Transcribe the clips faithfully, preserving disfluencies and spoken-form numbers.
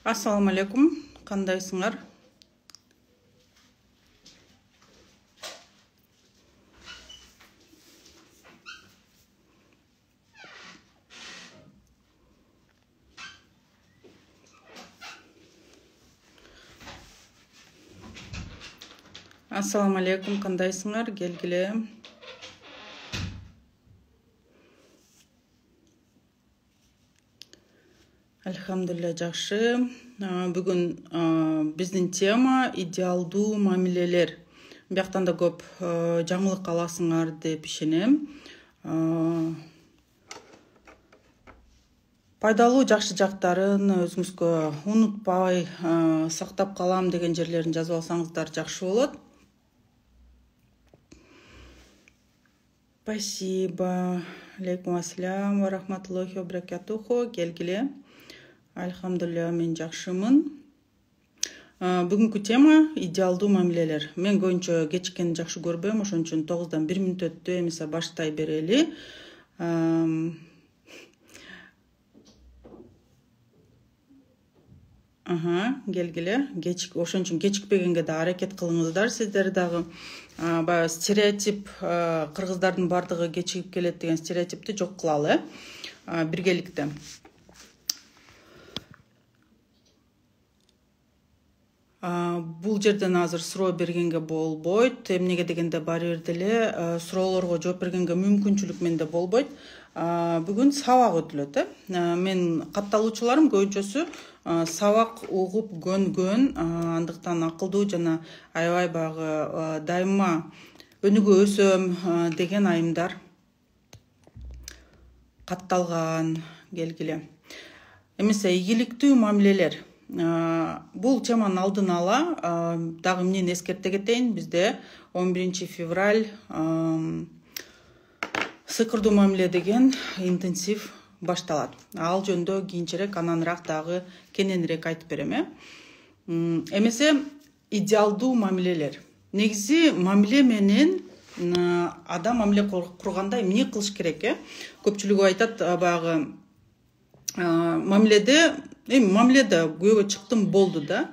Assalamu alaikum. Кандайсыңар? Assalamu alaikum. Кандайсыңар? Келгиле. Алхамдулилля, жакшы. Бүгүн биздин тема идеалдуу мамилелер. Бияктан да көп жаңылык аласыңар деп ишенем. Пайдалуу жакшы жактарын өзүңүзгө унутпай сактап калам деген жерлерин жазып алсаңыздар жакшы болот. Спасибо. Алейкум ассалам ва рахматуллахи ва баракатуху. Келгиле. Алхамдулилля, мен жакшымын. Бүгүнкү тема идеалдуу мамилелер. Мен көбүнчө кечиккенди жакшы көрбөйм, ошон үчүн тогуздан бир мүнөт өттү, эмесе баштай берели. Ага, келгиле. Кечик, ошон үчүн кечикпегенге да аракет кылыңыздар. Сиздер дагы баягы стереотип, кыргыздардын бардыгы кечигип келет деген стереотипти жок кылалы, э, биргеликте. Бул жерден азыр суроо бергенге болбойт. Эмнеге дегенде баары бир деле суроолорго жооп бергенге мүмкүнчүлүк менде болбойт. Бүгүн сабак өтүлөт, э. Мен катталуучуларым көбүнчөсү сабак угуп көнгөн, андыктан акылдуу жана аябай баягы дайыма өнүгө өсөм деген айымдар катталган. Келгиле. Эмесе ийгиликтүү мамилелер. Бул теманын алдын ала дагы эмнени эскерте кетейин. Бизде он биринчи февраль сыйкырдуу мамиле деген интенсив башталат. Ал жөнүндө кийинчерээк ананраак дагы кененирээк айтып берем, э. Эмесе идеалдуу мамилелер. Негизи мамиле менен адам мамиле курганда эмне кылыш керек, э? Көпчүлүгү айтат баягы мамиледе, эми мамиледе күйөөгө чыктым болду да.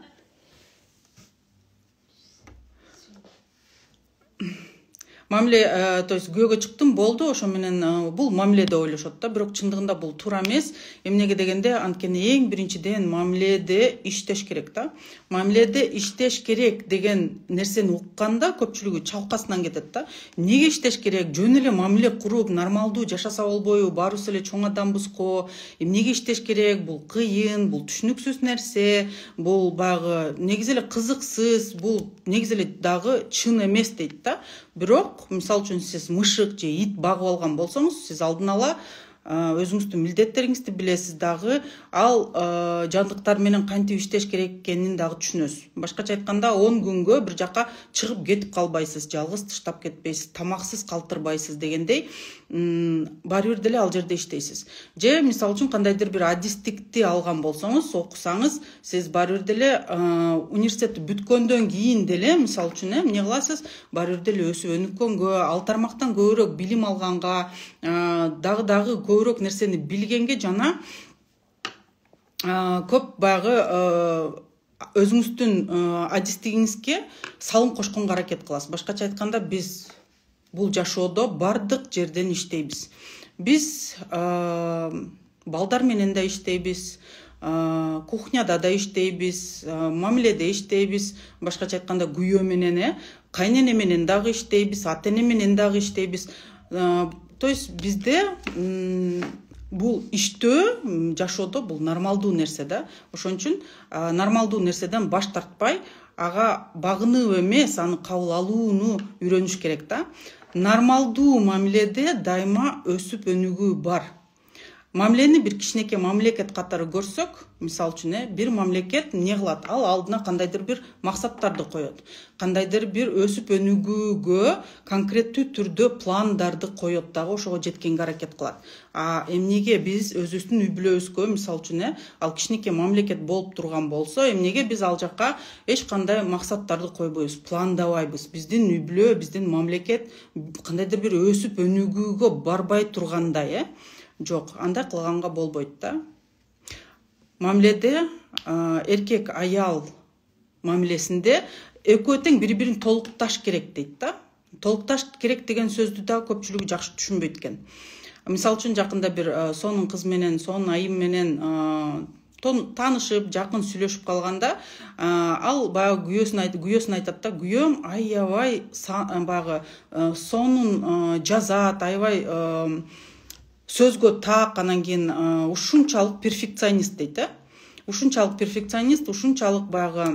Мамиле, то есть күйөөгө чыктым болду, ошо менен бул мамиле деп ойлошот да, бирок чындыгында бул туура эмес. Эмнеге дегенде, анткени эң биринчиден мамиледе иштеш керек да. Мамиледе иштеш керек деген нерсени укканда көпчүлүгү чалкасынан кетет да. Эмнеге иштеш керек? Жөн эле мамиле куруп, нормалдуу жашаса болбойбу? Баарыбыз эле чоң адамбыз го. Эмнеге иштеш керек? Бул кыйын, бул түшүнүксүз нерсе, бул баягы негизи эле кызыксыз, бул негизи эле дагы чын эмес дейт да. Бирок, мисалы үчүн сиз мышык же ит багып алган болсоңуз, сиз алдын ала өзүңүздүн милдеттериңизди билесиз дагы, ал жандыктар менен кантип иштеш керек экенин дагы түшүнөсүз. Башкача айтканда, он күнгө бир жака чыгып кетип калбайсыз, жалгыз таштап кетпейсиз, тамаксыз калтырбайсыз дегендей, баары бир деле ал жерде иштейсиз. Же мисалы үчүн кандайдыр бир адистикти алган болсоңуз, окусаңыз, сиз баары бир деле университетти бүткөндөн кийин деле, мисалы үчүн, эмне кыласыз? Баары бир деле өсүп өнүккөнгө, ал тармактан көбүрөөк билим алганга, дагы дагы көбүрөөк нерсени билгенге жана көп баягы өзүңүздүн адистигиңизге салым кошконго аракет кыласыз. Башкача айтканда, биз бул жашоодо бардык жерден иштейбиз. Биз балдар менен да иштейбиз, кухняда да иштейбиз, мамиледе иштейбиз, башкача айтканда күйөө менен, э, кайнене менен дагы иштейбиз, ата эне менен дагы иштейбиз. То есть bizde бул иштөө жашоодо бул нормалдуу нерсе да. Ошон үчүн нормалдуу нерседен баш тартпай, ага багынып эмес, аны кабыл алууну үйрөнүш керек да. Нормалдуу мамиледе дайыма өсүп өнүгүү бар. Мамилени бир кичинекей мамлекет катары көрсөк, мисалы үчүн, бир мамлекет эмне кылат? Ал алдына кандайдыр бир максаттарды коет. Кандайдыр бир өсүп өнүгүүгө конкреттүү түрдө пландарды коет дагы, ошого жеткенге аракет кылат. А эмнеге биз өзүбүздүн үй бүлөбүзгө, мисалы үчүн, ал кичинекей мамлекет болуп турган болсо, эмнеге биз ал жакка эч кандай максаттарды койбойбуз, пландабайбыз? Биздин үй бүлө, биздин мамлекет кандайдыр бир өсүп өнүгүүгө барбай тургандай, э? Жок, андай кылганга болбойт да. мамиледе эркек аял мамилесинде экөө тең бири бирин толукташ керек дейт да. Толукташ керек деген сөздү да көпчүлүгү жакшы түшүнбөйт экен. Мисалы үчүн жакында бир сонун кыз менен, сонун айым менен таанышып, жакын сүйлөшүп калганда, ал баягы күйөөсүн айтып, күйөөсүн айтат да, күйөөм аябай баягы сонун жазат, аябай сөзгө так, анан кийин ушунчалык перфекционист дейт да. Ушунчалык перфекционист, ушунчалык баягы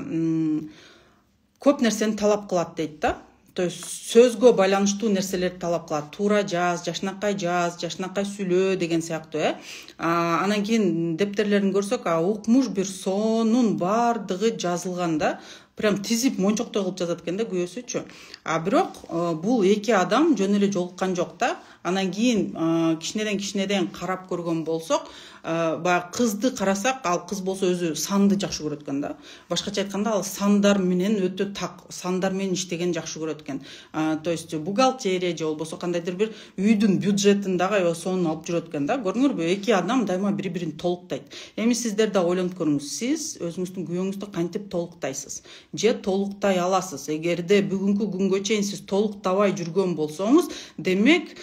көп нерсени талап кылат дейт да. То есть сөзгө байланыштуу нерселерди талап кылат. Туура жаз, жашынакай жаз, жашынакай сүйлөө деген сыяктуу, э. Анан кийин дептерлерин көрсөк, укмуш бир сонун бардыгы жазылган да. Прям тизип мончоктой кылып жазат экен да күйөөсүчү. А бирок бул эки адам жөн эле жолуккан жок да. Анан кийин кичинеден кичинеден карап көргөн болсок, баягы кызды карасак, ал кыз болсо өзү санды жакшы көрөт экен да. Башкача айтканда, ал сандар менен өтө так, сандар менен иштеген жакшы көрөт экен. То есть бухгалтерия же болбосо кандайдыр бир үйдүн бюджетин дагы аябай сонун алып жүрөт экен да. Көрдүңөрбү, эки адам дайыма бири-бирин толуктайт. Эми сиздер да ойлонуп көрүңүз, сиз өзүңүздүн күйөөңүздү кантип толуктайсыз? Же толуктай аласыз? Эгерде бүгүнкү күнгө чейин сиз толуктабай жүргөн болсоңуз, демек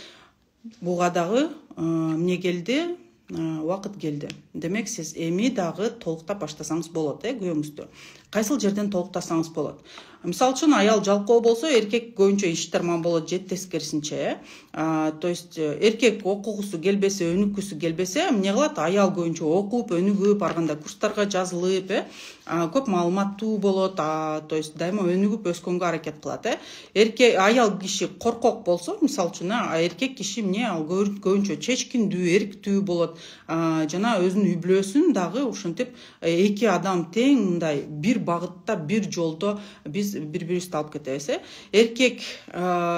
буга дагы эмне келди? Убакыт келди. Демек сиз эми дагы толуктап баштасаңыз болот, э, күйөөңүздү. Кайсыл жерден толуктасаңыз болот. Мисалы үчүн аял жалкоо болсо, эркек көбүнчө иштерман болот, же тескерисинче, э. То есть эркек окугусу келбесе, өнүккүсү келбесе, эмне кылат? Аял көбүнчө окуп, өнүгүп, ар кандай курстарга жазылып, э, көп маалыматтуу болот, то есть дайыма өнүгүп өскөнгө аракет кылат, э. Эркек аял киши коркок болсо, мисалы үчүн, эркек киши эмне, ал көбүнчө чечкиндүү, эрктүү болот, жана өзүнүн үй бүлөсүн дагы ушинтип эки адам тең мындай бир багытта, бир жолдо биз бири-бирибизди алып кетебиз, э. Эркек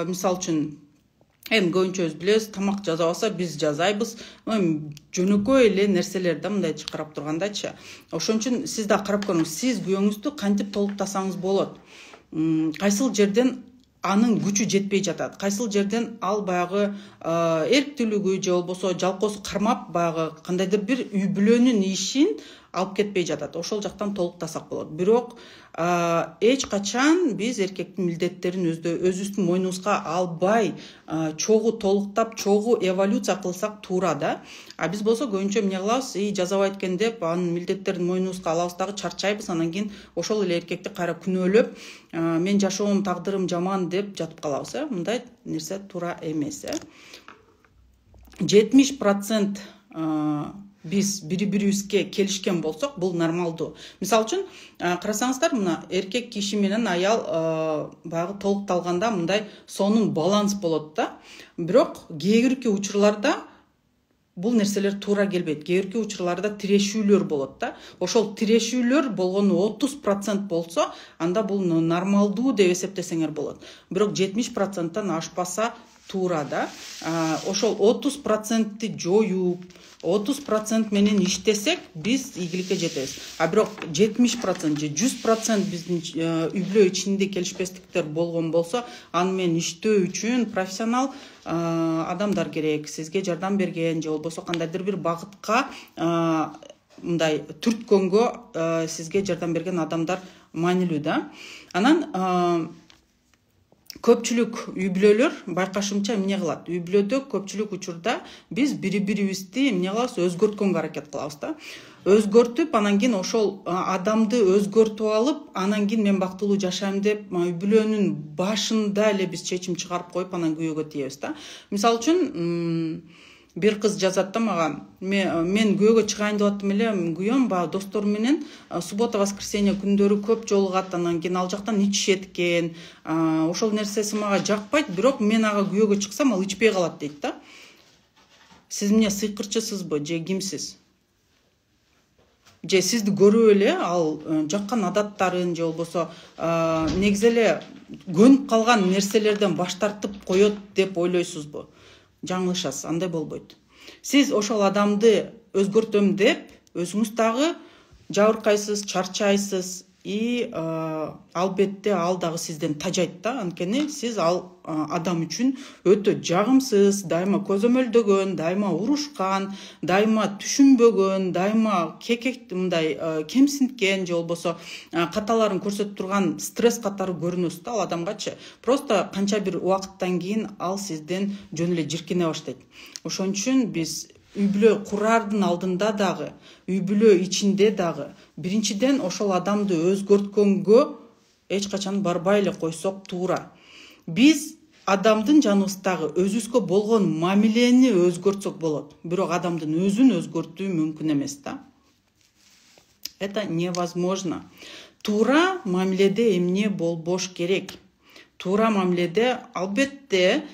мисалы үчүн эми көбүнчө өз билебиз, тамак жасабаса биз жасайбыз. Жөнөкөй эле нерселер да мындай чакырап тургандачы. Ошон үчүн сиз да карап көрүңүз, сиз күйөөңүздү кантип толуктасаңыз болот. Кайсыл жерден анын күчү жетпей жатат, кайсыл жерден ал баягы эрктүүлүгү же болбосо жалкоосу кармап баягы кандайдыр бир үй бүлөнүн ишин алып кетпей жатат. Ошол жактан толуктасак болот. Бирок эч качан биз эркектин милдеттерин өзүбүздүн мойнубузга албай, чогуу толуктап, чогуу эволюция кылсак туура да. А биз болсо көбүнчө эмне кылабыз? И жазабайт экен деп, анын милдеттерин мойнубузга алабыз дагы, чарчайбыз, анан кийин ошол эле эркекти кайра күнөөлөп, мен жашоом, тагдырым жаман деп жатып калабыз, э. Мындай нерсе туура эмес, э. жетимиш процент биз бири-бирибизге келишкен болсок, бул нормалдуу. Мисалы үчүн, карасаңыздар, мына эркек киши менен аял баягы толукталганда мындай сонун баланс болот да. Бирок кээ бирки учурларда бул нерселер туура келбейт. Кээ бирки учурларда тирешүүлөр болот да. Ошол тирешүүлөр болгону отуз процент болсо, анда бул нормалдуу деп эсептесеңер болот. Бирок жетимиш проценттен ашпаса туура да. Ошол отуз процентти жоюп, отуз процент менен иштесек, биз ийгиликке жетебиз. А бирок жетимиш процент же жүз процент биздин үй бүлө ичинде келишпестиктер болгон болсо, аны менен иштөө үчүн профессионал адамдар керек, сизге жардам берген же болбосо кандайдыр бир багытка мындай түрткөнгө сизге жардам берген адамдар маанилүү да. Анан көпчүлүк үй бүлөлөр байкашымча эмне кылат? Үй бүлөдө көпчүлүк учурда биз бири-бирибизди эмне кылабыз? Өзгөрткөнгө аракет кылабыз да. Өзгөртүп, анан кийин ошол адамды өзгөртүп алып, анан кийин мен бактылуу жашайм деп, үй бүлөнүн башында эле биз чечим чыгарып коюп, анан күйөөгө тийебиз да. Мисалы үчүн, бир кыз жазат да мага, мен күйөөгө чыгайын деп аттым эле, күйөөм баягы достору менен суббота воскресенье күндөрү көп жолугат, анан кийин ал жактан ичишет экен. Ошол нерсеси мага жакпайт, бирок мен ага күйөөгө чыксам, ал ичпей калат дейт да. Сиз эмне, сыйкырчысызбы же кимсиз? Же сизди көрүп эле ал жаккан адаттарын же болбосо негизи эле көнүп калган нерселерден баш тартып коет деп ойлойсузбу? Жаңылышасыз, андай болбойт. Сиз ошол адамды өзгөртөм деп, өзүңүз дагы жабыркайсыз, чарчайсыз, и албетте ал дагы сизден тажайт да, анткени сиз ал адам үчүн өтө жагымсыз, дайыма көзөмөлдөгөн, дайыма урушкан, дайыма түшүнбөгөн, дайыма кекек мындай кемсинткен же болбосо каталарын көрсөтүп турган стресс катары көрүнөсүз да ал адамгачы. Просто канча бир убакыттан кийин ал сизден жөн эле жиркене баштайт. Ошон үчүн биз үй бүлө курардын алдында дагы, үй бүлө ичинде дагы биринчиден ошол адамды өзгөрткөнгө эч качан барбай эле койсок туура. Биз адамдын жаныбыздагы өзүбүзгө болгон мамилени өзгөртсөк болот, бирок адамдын өзүн өзгөртүү мүмкүн эмес да. Это невозможно. Туура мамиледе эмне болбош керек? Туура мамиледе албетте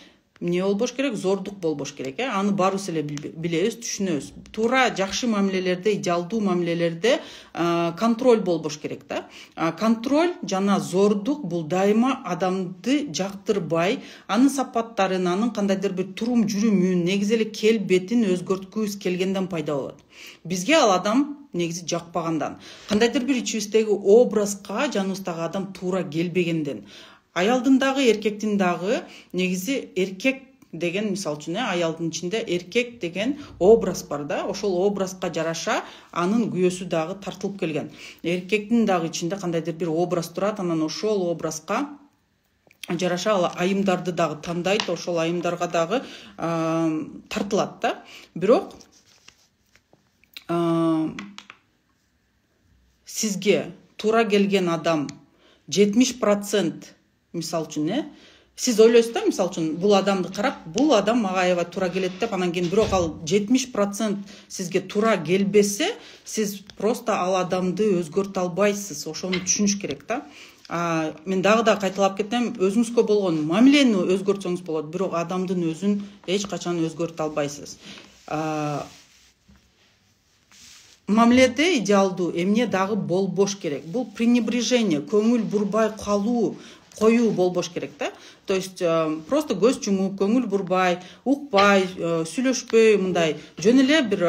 эмне болбош керек? Зордук болбош керек, э? Аны баарыбыз эле билебиз, түшүнөбүз. Туура жакшы мамилелерде, идеалдуу мамилелерде контроль болбош керек да. Контроль жана зордук бул дайыма адамды жактырбай, анын сапаттарын, анын кандайдыр бир турум жүрүмүн, негизи эле келбетин өзгөрткүбүз келгенден пайда болот. Бизге ал адам негизи жакпагандан, кандайдыр бир ичибиздеги образга жаныбыздагы адам туура келбегенден. Аялдын дагы, эркектин дагы негизи эркек деген мисалы үчүн аялдын ичинде эркек деген образ бар да, ошол образга жараша анын күйөөсү дагы тартылып келген. Эркектин дагы ичинде кандайдыр бир образ турат, анан ошол образга жараша ал айымдарды дагы тандайт, ошол айымдарга дагы тартылат да. Бирок сизге туура келген адам жетимиш процент мисалы үчүн, э, сиз ойлойсуз да, мисалы үчүн бул адамды карап, бул адам мага аябай туура келет деп, анан кийин бирок ал жетимиш процент сизге туура келбесе, сиз просто ал адамды өзгөртө албайсыз. Ошону түшүнүш керек да. А, мен дагы да кайталап кетем, өзүңүзгө болгон мамилени өзгөртсөңүз болот, бирок адамдын өзүн эч качан өзгөртө албайсыз. А, мамиледе идеалдуу эмне дагы болбош керек? Бул пренебрежение, көңүл бурбай калуу, коюу болбош керек да. То есть просто көз жумуп, көңүл бурбай, укпай, сүйлөшпөй, мындай жөн эле бир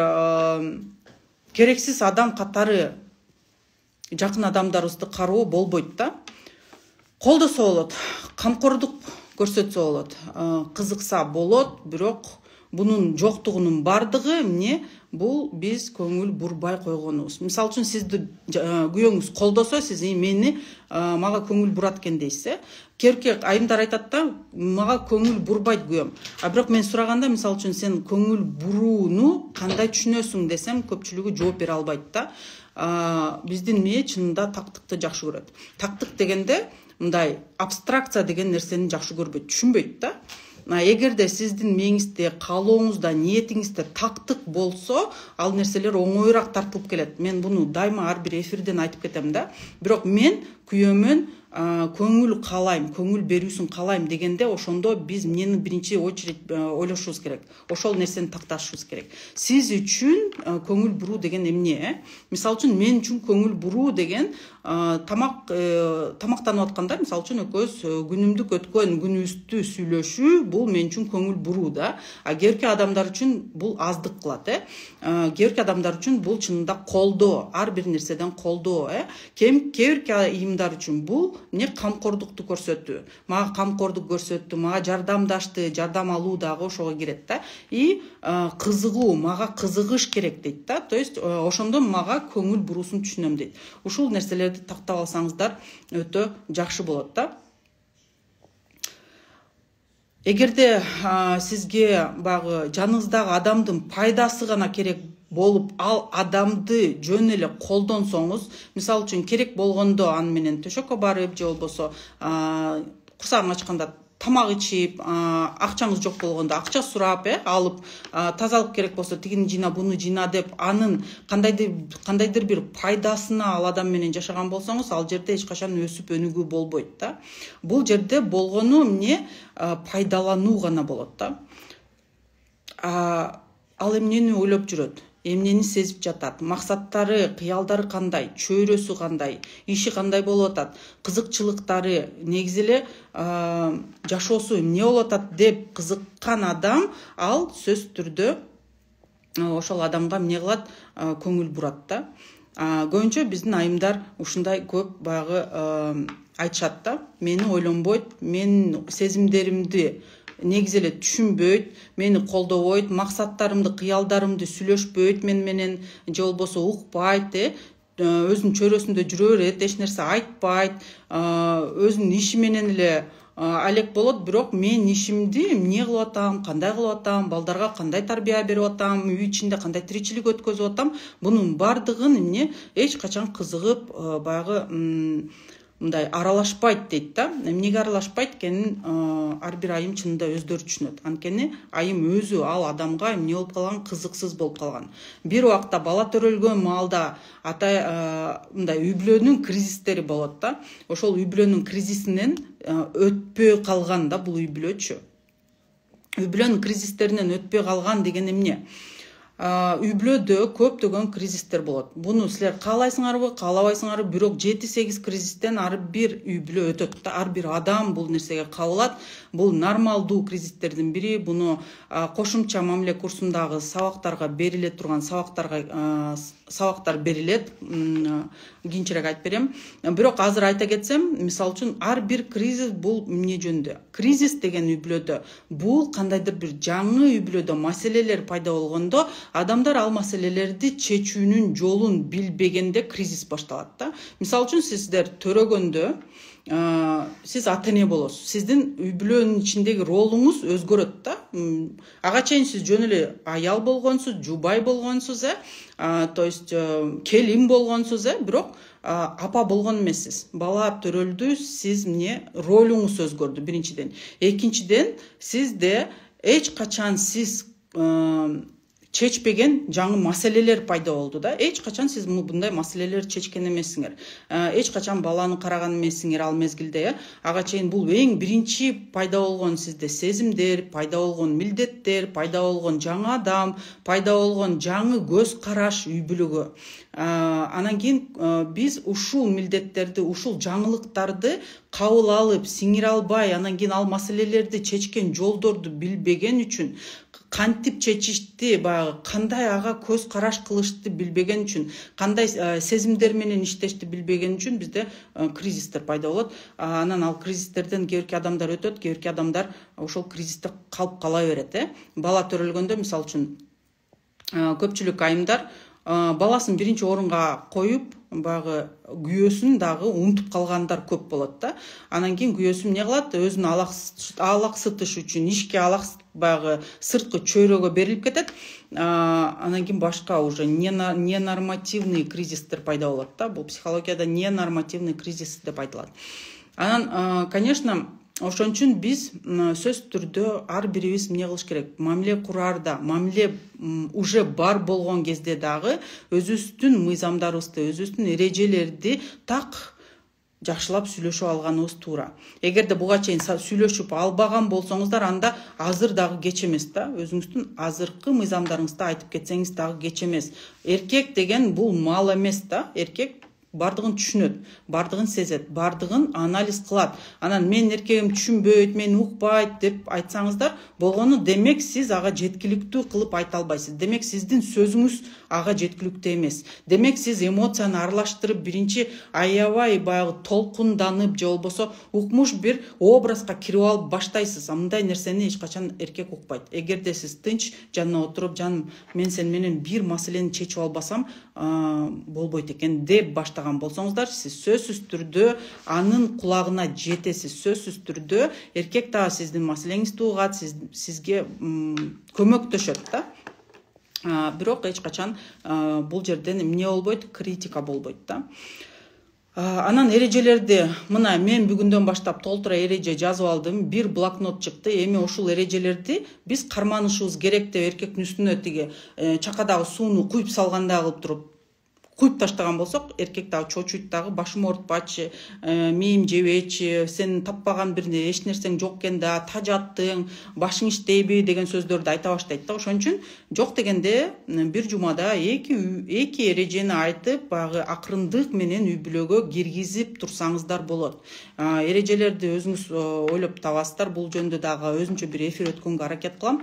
керексиз адам катары жакын адамдарыбызды кароо болбойт да. Колдосо болот, камкордук көрсөтсө болот, кызыкса болот, бирок бунун жоктугунун бардыгы эмне? Бул биз көңүл бурбай койгонубуз. Мисалы үчүн сизди күйөөңүз колдосо, сиз мени мага көңүл бурат экен дейсиз. Керке айымдар айтат да, мага көңүл бурбайт күйөөм. А бирок мен сураганда, мисалы үчүн сен көңүл бурууну кандай түшүнөсүң десем, көпчүлүгү жооп бере албайт да. Биздин мээ чынында тактыкты жакшы көрөт. Тактык дегенде мындай абстракция деген нерсени жакшы көрбөйт, түшүнбөйт да. Эгерде сиздин мээңизде, каалооңузда, ниетиңизде тактык болсо, ал нерселер оңоюраак тартылып келет. Мен буну дайыма ар бир эфирден айтып кетем да. Бирок мен күйөөмөн көңүл каалайм, көңүл берүүсүн каалайм дегенде, ошондо биз эмнени биринчи очередь ойлошубуз керек. Ошол нерсени такташыбыз керек. Сиз үчүн көңүл буруу деген эмне? Мисалы үчүн мен үчүн көңүл буруу деген тамак тамактанып атканда, мисалы үчүн экөөбүз күнүмдүк өткөн күнүбүздү сүйлөшүү, бул мен үчүн көңүл буруу да. А кээбирки адамдар үчүн бул аздык кылат, э. Кээбирки адамдар үчүн бул чынында колдоо, ар бир нерседен колдоо, э. Кээбирки айымдар үчүн бул не камкордукту көрсөтүү. Мага камкордук көрсөттү, мага жардамдашты, жардам алуу дагы ошого кирет да. И кызыгуу, мага кызыгыш керек дейт да. То есть ошондо мага көңүл буруусун түшүнөм дейт. Ушул нерселерди тактап алсаңыздар өтө жакшы болот да. Эгерде сизге багы жаныңыздагы адамдын пайдасы гана керек болуп, ал адамды жөн эле колдонсоңуз, мисалы үчүн керек болгондо аны менен төшөккө барып, же болбосо курсагың ачканда тамак ичип, акчаңыз жок болгондо акча сурап, э, алып, тазалык керек болсо тигини жыйна, буну жыйна деп, анын кандайдыр кандайдыр бир пайдасына ал адам менен жашаган болсоңуз, ал жерде эч качан өсүп өнүгүү болбойт да. Бул жерде болгону эмне? Пайдалануу гана болот да. Ал эмнени ойлоп жүрөт? Эмнени сезип жатат, максаттары, кыялдары кандай, чөйрөсү кандай, иши кандай болуп атат, кызыкчылыктары, негизи эле жашоосу эмне болуп атат деп кызыккан адам, ал сөзсүз түрдө ошол адамга эмне кылат? Көңүл бурат да. Көбүнчө биздин айымдар ушундай көп баягы айтышат да, мени ойлонбойт, менин сезимдеримди негизи эле түшүнбөйт, мени колдобойт, максаттарымды, кыялдарымды сүйлөшпөйт мен менен, же болбосо укпайт, э өзүнүн чөйрөсүндө жүрө берет, эч нерсе айтпайт, өзүнүн иши менен эле алек болот, бирок мен ишимди эмне кылып атам, кандай кылып атам, балдарга кандай тарбия берип атам, үй ичинде кандай тиричилик өткөзүп атам, бунун бардыгын эмне эч качан кызыгып баягы мындай аралашпайт дейт да. Эмнеге аралашпайт экенин ар бир айым чынында өздөрү түшүнөт. Анткени айым өзү ал адамга эмне болуп калган, кызыксыз болуп калган. Бир убакта бала төрөлгөн маалда ата мындай үй бүлөнүн кризистери болот да. Ошол үй бүлөнүн кризисинен өтпөй калган да бул үй бүлөчү. Үй бүлөнүн кризистеринен өтпөй калган деген эмне? Үй бүлөдө көптөгөн кризистер болот. Буну силер каалайсыңарбы, каалабайсыңарбы, бирок жети сегиз кризистен ар бир үй бүлө өтөт да. Ар бир адам бул нерсеге кабылат. Бул нормалдуу кризистердин бири. Буну кошумча мамиле курсундагы сабактарга бериле турган сабактарга сабактар берилет. Кийинчерээк айтып берем. Бирок азыр айта кетсем, мисалы үчүн ар бир кризис бул эмне жөнүндө? Кризис деген үй бүлөдө бул кандайдыр бир жаңы үй бүлөдө маселелер пайда болгондо адамдар ал маселелерди чечүүнүн жолун билбегенде кризис башталат да. Мисалы үчүн сиздер төрөгөндө сиз ата эне болосуз. Сиздин үй бүлөнүн ичиндеги ролуңуз өзгөрөт да. Ага чейин сиз жөн эле аял болгонсуз, жубай болгонсуз, э, то есть келин болгонсуз, э, бирок апа болгон эмессиз. Бала төрөлдү, сиз эмне ролуңуз өзгөрдү биринчиден. Экинчиден, сизде эч качан сиз чечпеген жаңы маселелер пайда болду да. Эч качан сиз мындай маселелерди чечкен эмессиңер. Эч качан баланы караган эмессиңер ал мезгилде. Ага чейин бул эң биринчи пайда болгон сизде сезимдер, пайда болгон милдеттер, пайда болгон жаңы адам, пайда болгон жаңы көз караш үй бүлөгө. Анан кийин биз ушул милдеттерди, ушул жаңылыктарды кабыл алып, сиңире албай, анан кийин ал маселелерди чечкен жолдорду билбеген үчүн, кантип чечишти, баягы кандай ага көз караш кылышты билбеген үчүн, кандай сезимдер менен иштешти билбеген үчүн бизде кризистер пайда болот. Анан ал кризистерден кээ бирки адамдар өтөт, кээ бирки адамдар ошол кризисте калып кала берет, э. Бала төрөлгөндө мисалы үчүн көпчүлүк айымдар баласын биринчи орунга коюп, баягы күйөөсүн дагы унутуп калгандар көп болот да. Анан кийин күйөөсү эмне кылат? Өзүн алаксытыш үчүн ишке алакс баягы сырткы чөйрөгө берилип кетет. Анан кийин башка уже ненормативный кризистер пайда болот да. Бул психологияда ненормативный кризис деп айтылат. Анан, конечно, ошон үчүн биз сөзсүз түрдө ар бирибиз эмне кылыш керек? Мамиле кураарда, мамиле уже бар болгон кезде дагы өзүбүздүн мыйзамдарыбызды, өзүбүздүн эрежелерди так жакшылап сүйлөшүп алганыбыз туура. Эгерде буга чейин сүйлөшүп албаган болсоңуздар, анда азыр дагы кеч эмес да. Өзүңүздүн азыркы мыйзамдарыңызды айтып кетсеңиз дагы кеч эмес. Эркек деген бул мал эмес да. Эркек бардыгын түшүнөт, бардыгын сезет, бардыгын анализ кылат. Анан мен эркегим түшүнбөйт, мени укпайт деп айтсаңыздар, болгону демек сиз ага жеткиликтүү кылып айта албайсыз. Демек сиздин сөзүңүз ага жеткиликтүү эмес. Демек сиз эмоцияны аралаштырып, биринчи аябай баягы толкунданып, же болбосо укмуш бир образга кирип алып баштайсыз. Мындай нерсени эч качан эркек укпайт. Эгерде сиз тынч жанына отуруп, жаным, мен сен менен бир маселени чечип албасам, болбойт экен деп баштаган болсоңуздар, сиз сөзсүз түрдө анын кулагына жетесиз. Сөзсүз түрдө эркек дагы сиздин маселеңизди угат, сиз, сизге көмөктөшөт да. Бирок эч качан бул жерден эмне болбойт? Критика болбойт да. Анан эрежелерди мына мен бүгүндөн баштап толтура эреже жазып алдым. Бир блокнот чыкты. Эми ошол эрежелерди биз карманышыбыз керек деп эркектин үстүнө тиги чакадагы сууну куюп салгандай кылып туруп куюп таштаган болсок, эркек дагы чочуйт дагы, башым оорутпачы, мээм жебечи, сен таппаган бир эч нерсең жок экен да, тажаттың, башың иштейби деген сөздөрдү айта баштайт да. Ошон үчүн жок дегенде бир жумада эки эки эрежени айтып, баягы акырындык менен үй бүлөгө киргизип турсаңыздар болот. Эрежелерди өзүңүз ойлоп табасыздар. Бул жөнүндө дагы өзүнчө бир эфир өткөнгө аракет кылам.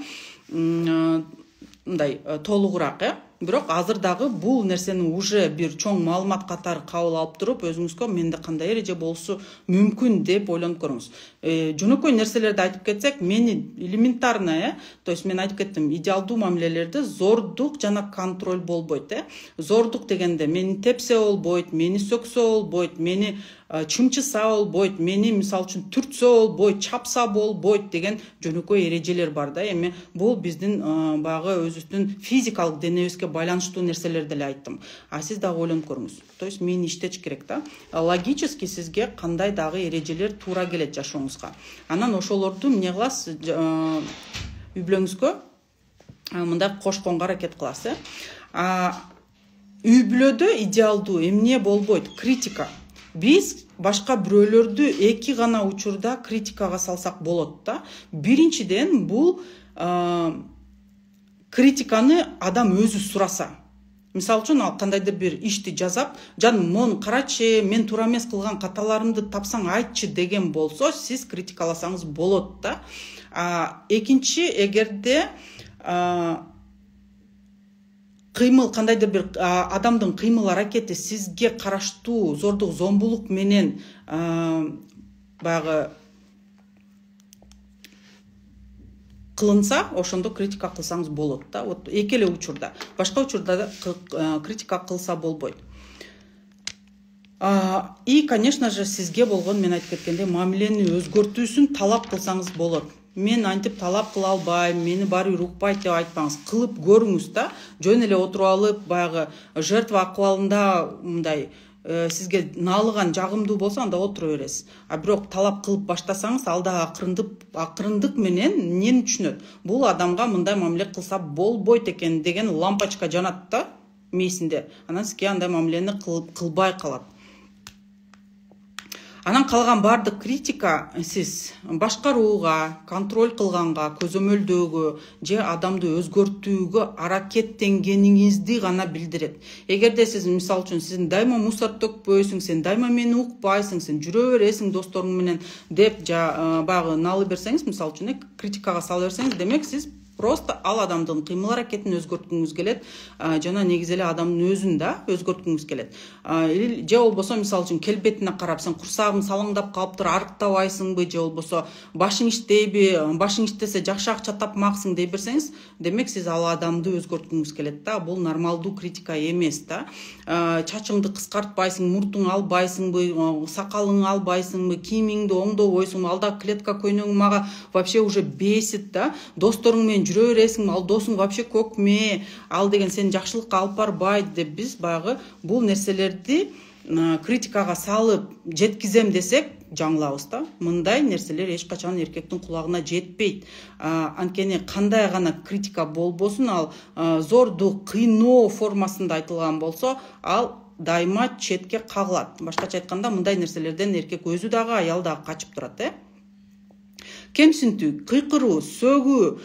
Мындай толугураак, э бирок азыр дагы бул нерсени уже бир чоң маалымат катары кабыл алып туруп, өзүңүзгө менде кандай эреже болушу мүмкүн деп ойлонуп көрүңүз. Жөнөкөй нерселерди айтып кетсек, мени элементарно, э, то есть мен айтып кеттим, идеалдуу мамилелерде зордук жана контроль болбойт, э. Зордук дегенде мени тепсе болбойт, мени сөксө болбойт, мени чымчыса болбойт, мени мисалы үчүн түртсө болбойт, чапса болбойт деген жөнөкөй эрежелер бар да. Эми бул биздин баягы өзүбүздүн физикалык денебизге байланыштуу нерселерди деле айттым. А сиз дагы ойлонуп көрүңүз. То есть мени иштетиш керек да. Логически сизге кандай дагы эрежелер туура келет жашооңузга. Анан ошолорду эмне кыласыз? Үй бүлөңүзгө мындай кошконго аракет кыласыз, э. Үй бүлөдө идеалдуу эмне болбойт? Критика. Биз башка бирөөлөрдү эки гана учурда критикага салсак болот да. Биринчиден бул критиканы адам өзү сураса. Мисалы үчүн ал кандайдыр бир ишти жазап, "Жаным, мону карачы, мен туура эмес кылган каталарымды тапсаң айтчы" деген болсо, сиз критикаласаңыз болот да. Экинчи, эгерде кыймыл кандайдыр бир адамдын кыймыл аракети сизге караштуу зордук зомбулук менен баягы кылынса, ошондо критика кылсаңыз болот да. Вот эки эле учурда. Башка учурда критика кылса болбойт. И, конечно же, сизге болгон, мен айтып кеткендей, мамилени өзгөртүүсүн талап кылсаңыз болот. Мен антип талап кыла албайм, мени баары бир укпайт деп айтпаңыз. Кылып көрүңүз да. Жөн эле отуруп алып, баягы жертва акыбалында мындай сизге наалыган жагымдуу болсо, анда отура бересиз. А бирок талап кылып баштасаңыз, ал да акырындык акырындык менен эмнени түшүнөт? Бул адамга мындай мамиле кылса болбойт экен деген лампочка жанат да мээсинде. Анан сизге андай мамилени кылбай калат. Анан калган бардык критика сиз башкарууга, контроль кылганга, көзөмөлдөөгө же адамды өзгөртүүгө аракеттенгениңизди гана билдирет. Эгерде сиз мисалы үчүн сен дайыма мусор төкпөйсүң, сен дайыма мени укпайсың, сен жүрө бересиң досторуң менен деп баягы налы берсеңиз, мисалы үчүн критикага сала берсеңиз, демек сиз просто ал адамдын кыймыл аракетин өзгөрткүңүз келет, жана негизи эле адамдын өзүн да өзгөрткүңүз келет. Же болбосо мисалы үчүн келбетине карап, сен курсагың салаңдап калыптыр, арыктабайсыңбы, же болбосо башың иштейби, башың иштесе жакшы акча тапмаксың дей берсеңиз, демек сиз ал адамды өзгөрткүңүз келет да. Бул нормалдуу критика эмес да. Чачыңды кыскартпайсың, муртуң албайсыңбы, сакалыңды албайсыңбы, кийимиңди оңдобойсуңбу, алда клетка көйнөгүң мага вообще уже бесит да. Досторуң менен жүрө бересиңби, ал досуң вообще көкме, ал деген сени жакшылыкка алып барбайт деп биз баягы бул нерселерди критикага салып жеткизем десек, жаңылабыз да. Мындай нерселер эч качан эркектин кулагына жетпейт. Анткени кандай гана критика болбосун, ал зордук, кыйноо формасында айтылган болсо, ал дайыма четке кагылат. Башкача айтканда, мындай нерселерден эркек өзү дагы, аял дагы качып турат, э. Кемсинтүү, кыйкыруу, сөгүү,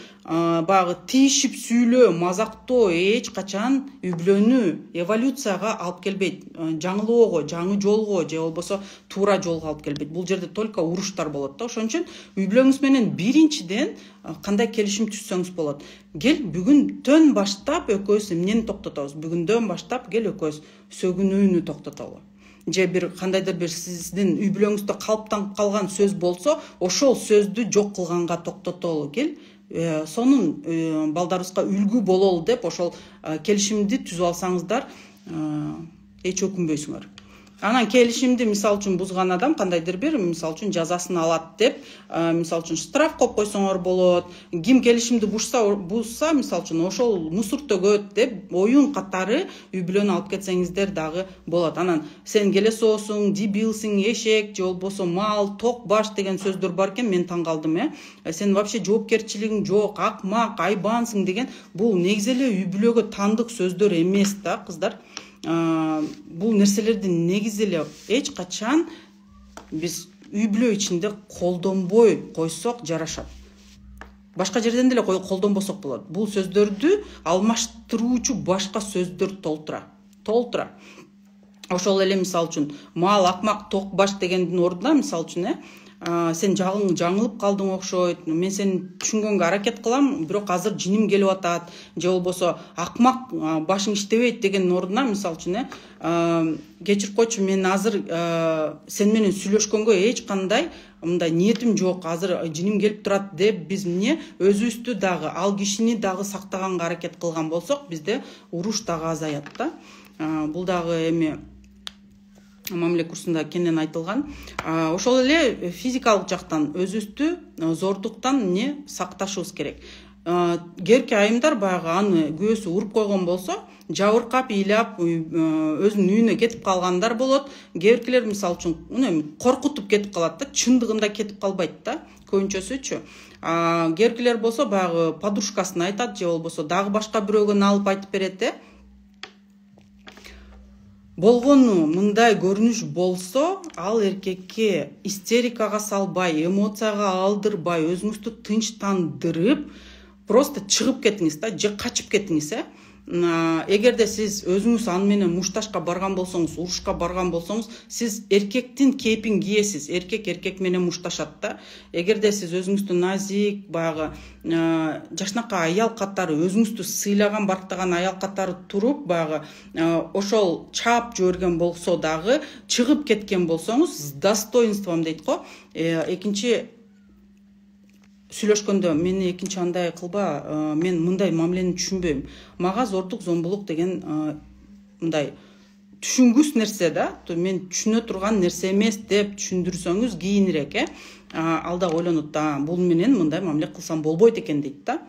баягы тийишип сүйлөө, мазактоо эч качан үй бүлөнү эволюцияга алып келбейт. Жаңылоого, жаңы жолго же болбосо туура жолго алып келбейт. Бул жерде только уруштар болот да. Ошон үчүн үй бүлөңүз менен биринчиден кандай келишим түзсөңүз болот. Кел бүгүндөн баштап экөөбүз эмнени токтотобуз? Бүгүндөн баштап кел экөөбүз сөгүнүүнү токтотолу. Же бир кандайдыр бир сиздин үй бүлөңүздө калыптанып калган сөз болсо, ошол сөздү жок кылганга токтотолу. Кел сонун балдарыбызга үлгү бололу деп ошол келишимди түзүп алсаңыздар, эч өкүнбөйсүңөр. Анан келишимди мисалы үчүн бузган адам кандайдыр бир мисалы үчүн жазасын алат деп, мисалы үчүн штраф коюп койсоңор болот. Ким келишимди бузса, бузса мисалы үчүн ошол мусор төгөт деп оюн катары үй бүлөнү алып кетсеңиздер дагы болот. Анан сен келесоосуң, дебилсиң, эшек, же болбосо мал, ток баш деген сөздөр бар экен, мен таң калдым, э. Сен вообще жоопкерчилигиң жок, акмак, айбансың деген бул негизи эле үй бүлөгө тандык сөздөр эмес да, кыздар. Бул нерселерди негизи эле эч качан биз үй бүлө ичинде колдонбой койсок жарашат. Башка жерден деле колдонбосок болот. Бул сөздөрдү алмаштыруучу башка сөздөр толтура. Толтура. Ошол эле мисалы үчүн мал, акмак, ток баш дегендин ордуна мисалы үчүн, э, сен жагың жаңылып калдың окшойт, мен сени түшүнгөнгө аракет кылам, бирок азыр жиним келип атат, же болбосо акмак башың иштебейт деген ордуна, мисалы үчүн э кечирип койчу, мен азыр сен менен сүйлөшкөнгө эч кандай мындай ниетим жок, азыр жиним келип турат деп биз эмне өзүбүздү дагы, ал кишини дагы сактаганга аракет кылган болсок, бизде уруш дагы азаят да. Бул дагы эми мамиле курсунда кенен айтылган. Ошол эле физикалык жактан өзүбүздү зордуктан эмне сакташыбыз керек. Керки айымдар баягы аны күйөөсү уруп койгон болсо, жабыркап, ыйлап, өзүнүн үйүнө кетип калгандар болот. Керкилер мисалы үчүн эми коркутуп кетип калат да, чындыгында кетип калбайт да, көбүнчөсүчү. Керкилер болсо баягы подружкасына айтат, же болбосо дагы башка бирөөгө алып айтып берет э. Болгону мындай көрүнүш болсо, ал эркекке истерикага салбай, эмоцияга алдырбай, өзүңүздү тынчтандырып, просто чыгып кетиңиз да, же качып кетиңиз э. Эгерде сиз өзүңүз аны менен мушташка барган болсоңуз, урушка барган болсоңуз, сиз эркектин кейпин кийесиз, эркек эркек менен мушташат да. Эгерде сиз өзүңүздү назик, баягы жашнакай аял катары, өзүңүздү сыйлаган, барктаган аял катары туруп, баягы ошол чаап жиберген болсо дагы, чыгып кеткен болсоңуз, с достоинством дейт го. Экинчи сүйлөшкөндө мени экинчи андай кылба, мен мындай мамилени түшүнбөйм. Мага зордук, зомбулук деген мындай түшүнгүс нерсе да, мен түшүнө турган нерсе эмес деп түшүндүрсөңүз кийинирээк э. Ал да ойлонот да, бул менен мындай мамиле кылсам болбойт экен дейт да.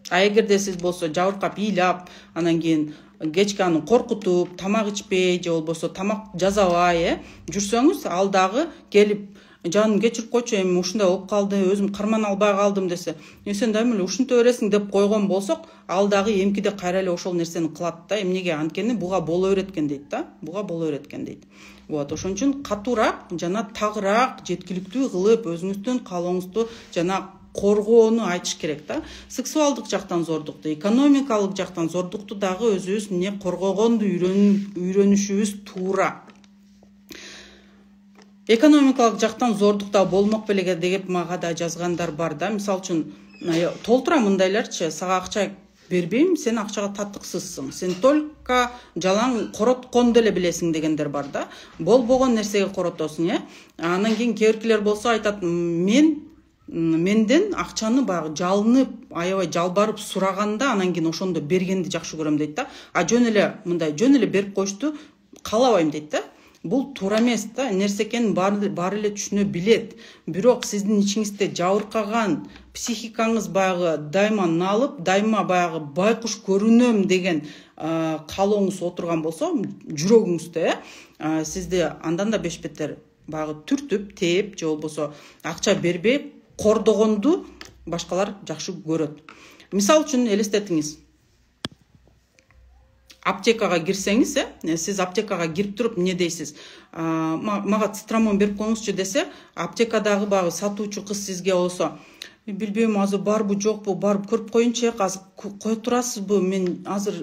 А эгерде сиз болсо жабыркап, ыйлап, анан кийин кечке аны коркутуп, тамак ичпей, же болбосо тамак жасабай э жүрсөңүз, ал дагы келип жаным кечирип койчу, эми ушундай болуп калды, өзүм кармана албай калдым десе, сен дайыма эле ушинте бересиң деп койгон болсок, ал дагы эмкиде кайра эле ошол нерсени кылат да. Эмнеге? Анткени буга боло береткен дейт да. Буга боло береткен дейт. Вот, ошон үчүн катуураак жана тагыраак жеткиликтүү кылып, өзүңүздүн каалооңузду жана коргоону айтыш керек да. Сексуалдык жактан зордукту, экономикалык жактан зордукту дагы өзүбүз эмне коргогонду үйрөнүшүбүз туура. Экономикалык жактан зордук да болмок беле деп мага да жазгандар бар да. Мисалы үчүн толтура мындайларчы, сага акча бербейм, сен акчага татыксызсың, сен только жалаң коротконду эле билесиң дегендер бар да. Болбогон нерсеге коротосуң э. Анан кийин керкилер болсо айтат, мен менден акчаны баягы жалынып, аябай жалбарып сураганда, анан кийин ошондо бергенди жакшы көрөм дейт да. А жөн эле мындай жөн эле берип коюшту каалабайм дейт да. Бул туура эмес да, нерсе экенин баары эле түшүнө билет. Бирок сиздин ичиңизде жабыркаган, психикаңыз баягы дайыма налып, дайыма баягы байкуш көрүнөм деген каалооңуз отурган болсо, жүрөгүңүздө э, сизди андан да беш бетер баягы түртүп, тээп, же болбосо акча бербей кордогонду башкалар жакшы көрөт. Мисалы үчүн элестетиңиз. Аптекага кирсеңиз, э, сиз аптекага кирип туруп эмне дейсиз? Мага цитрамон берип коюңузчу десе, аптекадагы баягы сатуучу кыз сизге болсо, билбейм, азыр барбы жокпу, барып көрүп коеюнчу, азыр кое турасызбы, мен азыр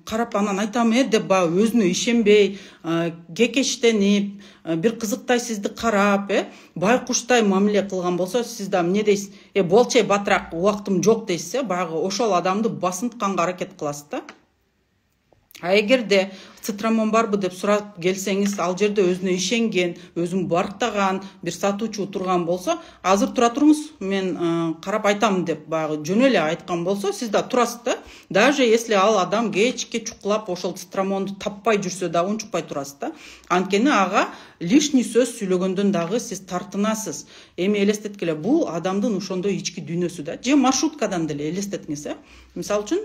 карап анан айтам э деп баягы өзүнө ишенбей, кекештенип, бир кызыктай сизди карап, э, байкуштай мамиле кылган болсо, сиз да эмне дейсиз? Э, болчу, батыраак, убактым жок дейсиз, э, баягы ошол адамды басынтканга аракет кыласыз да. А эгерде цитрамон барбы деп сурап келсеңиз, ал жерде өзүнө ишенген, өзүн барктаган бир сатуучу турган болсо, азыр тура туруңуз, мен карап айтам деп баягы жөн эле айткан болсо, сиз да турасыз да. Даже если ал адам кечке чукулап ошол цитрамонду таппай жүрсө да унчукпай турасыз да. Анткени ага лишний сөз сүйлөгөндөн дагы сиз тартынасыз. Эми элестеткиле, бул адамдын ошондой ички дүйнөсү да. Же маршруткадан деле элестетиңиз, э. Мисалы үчүн,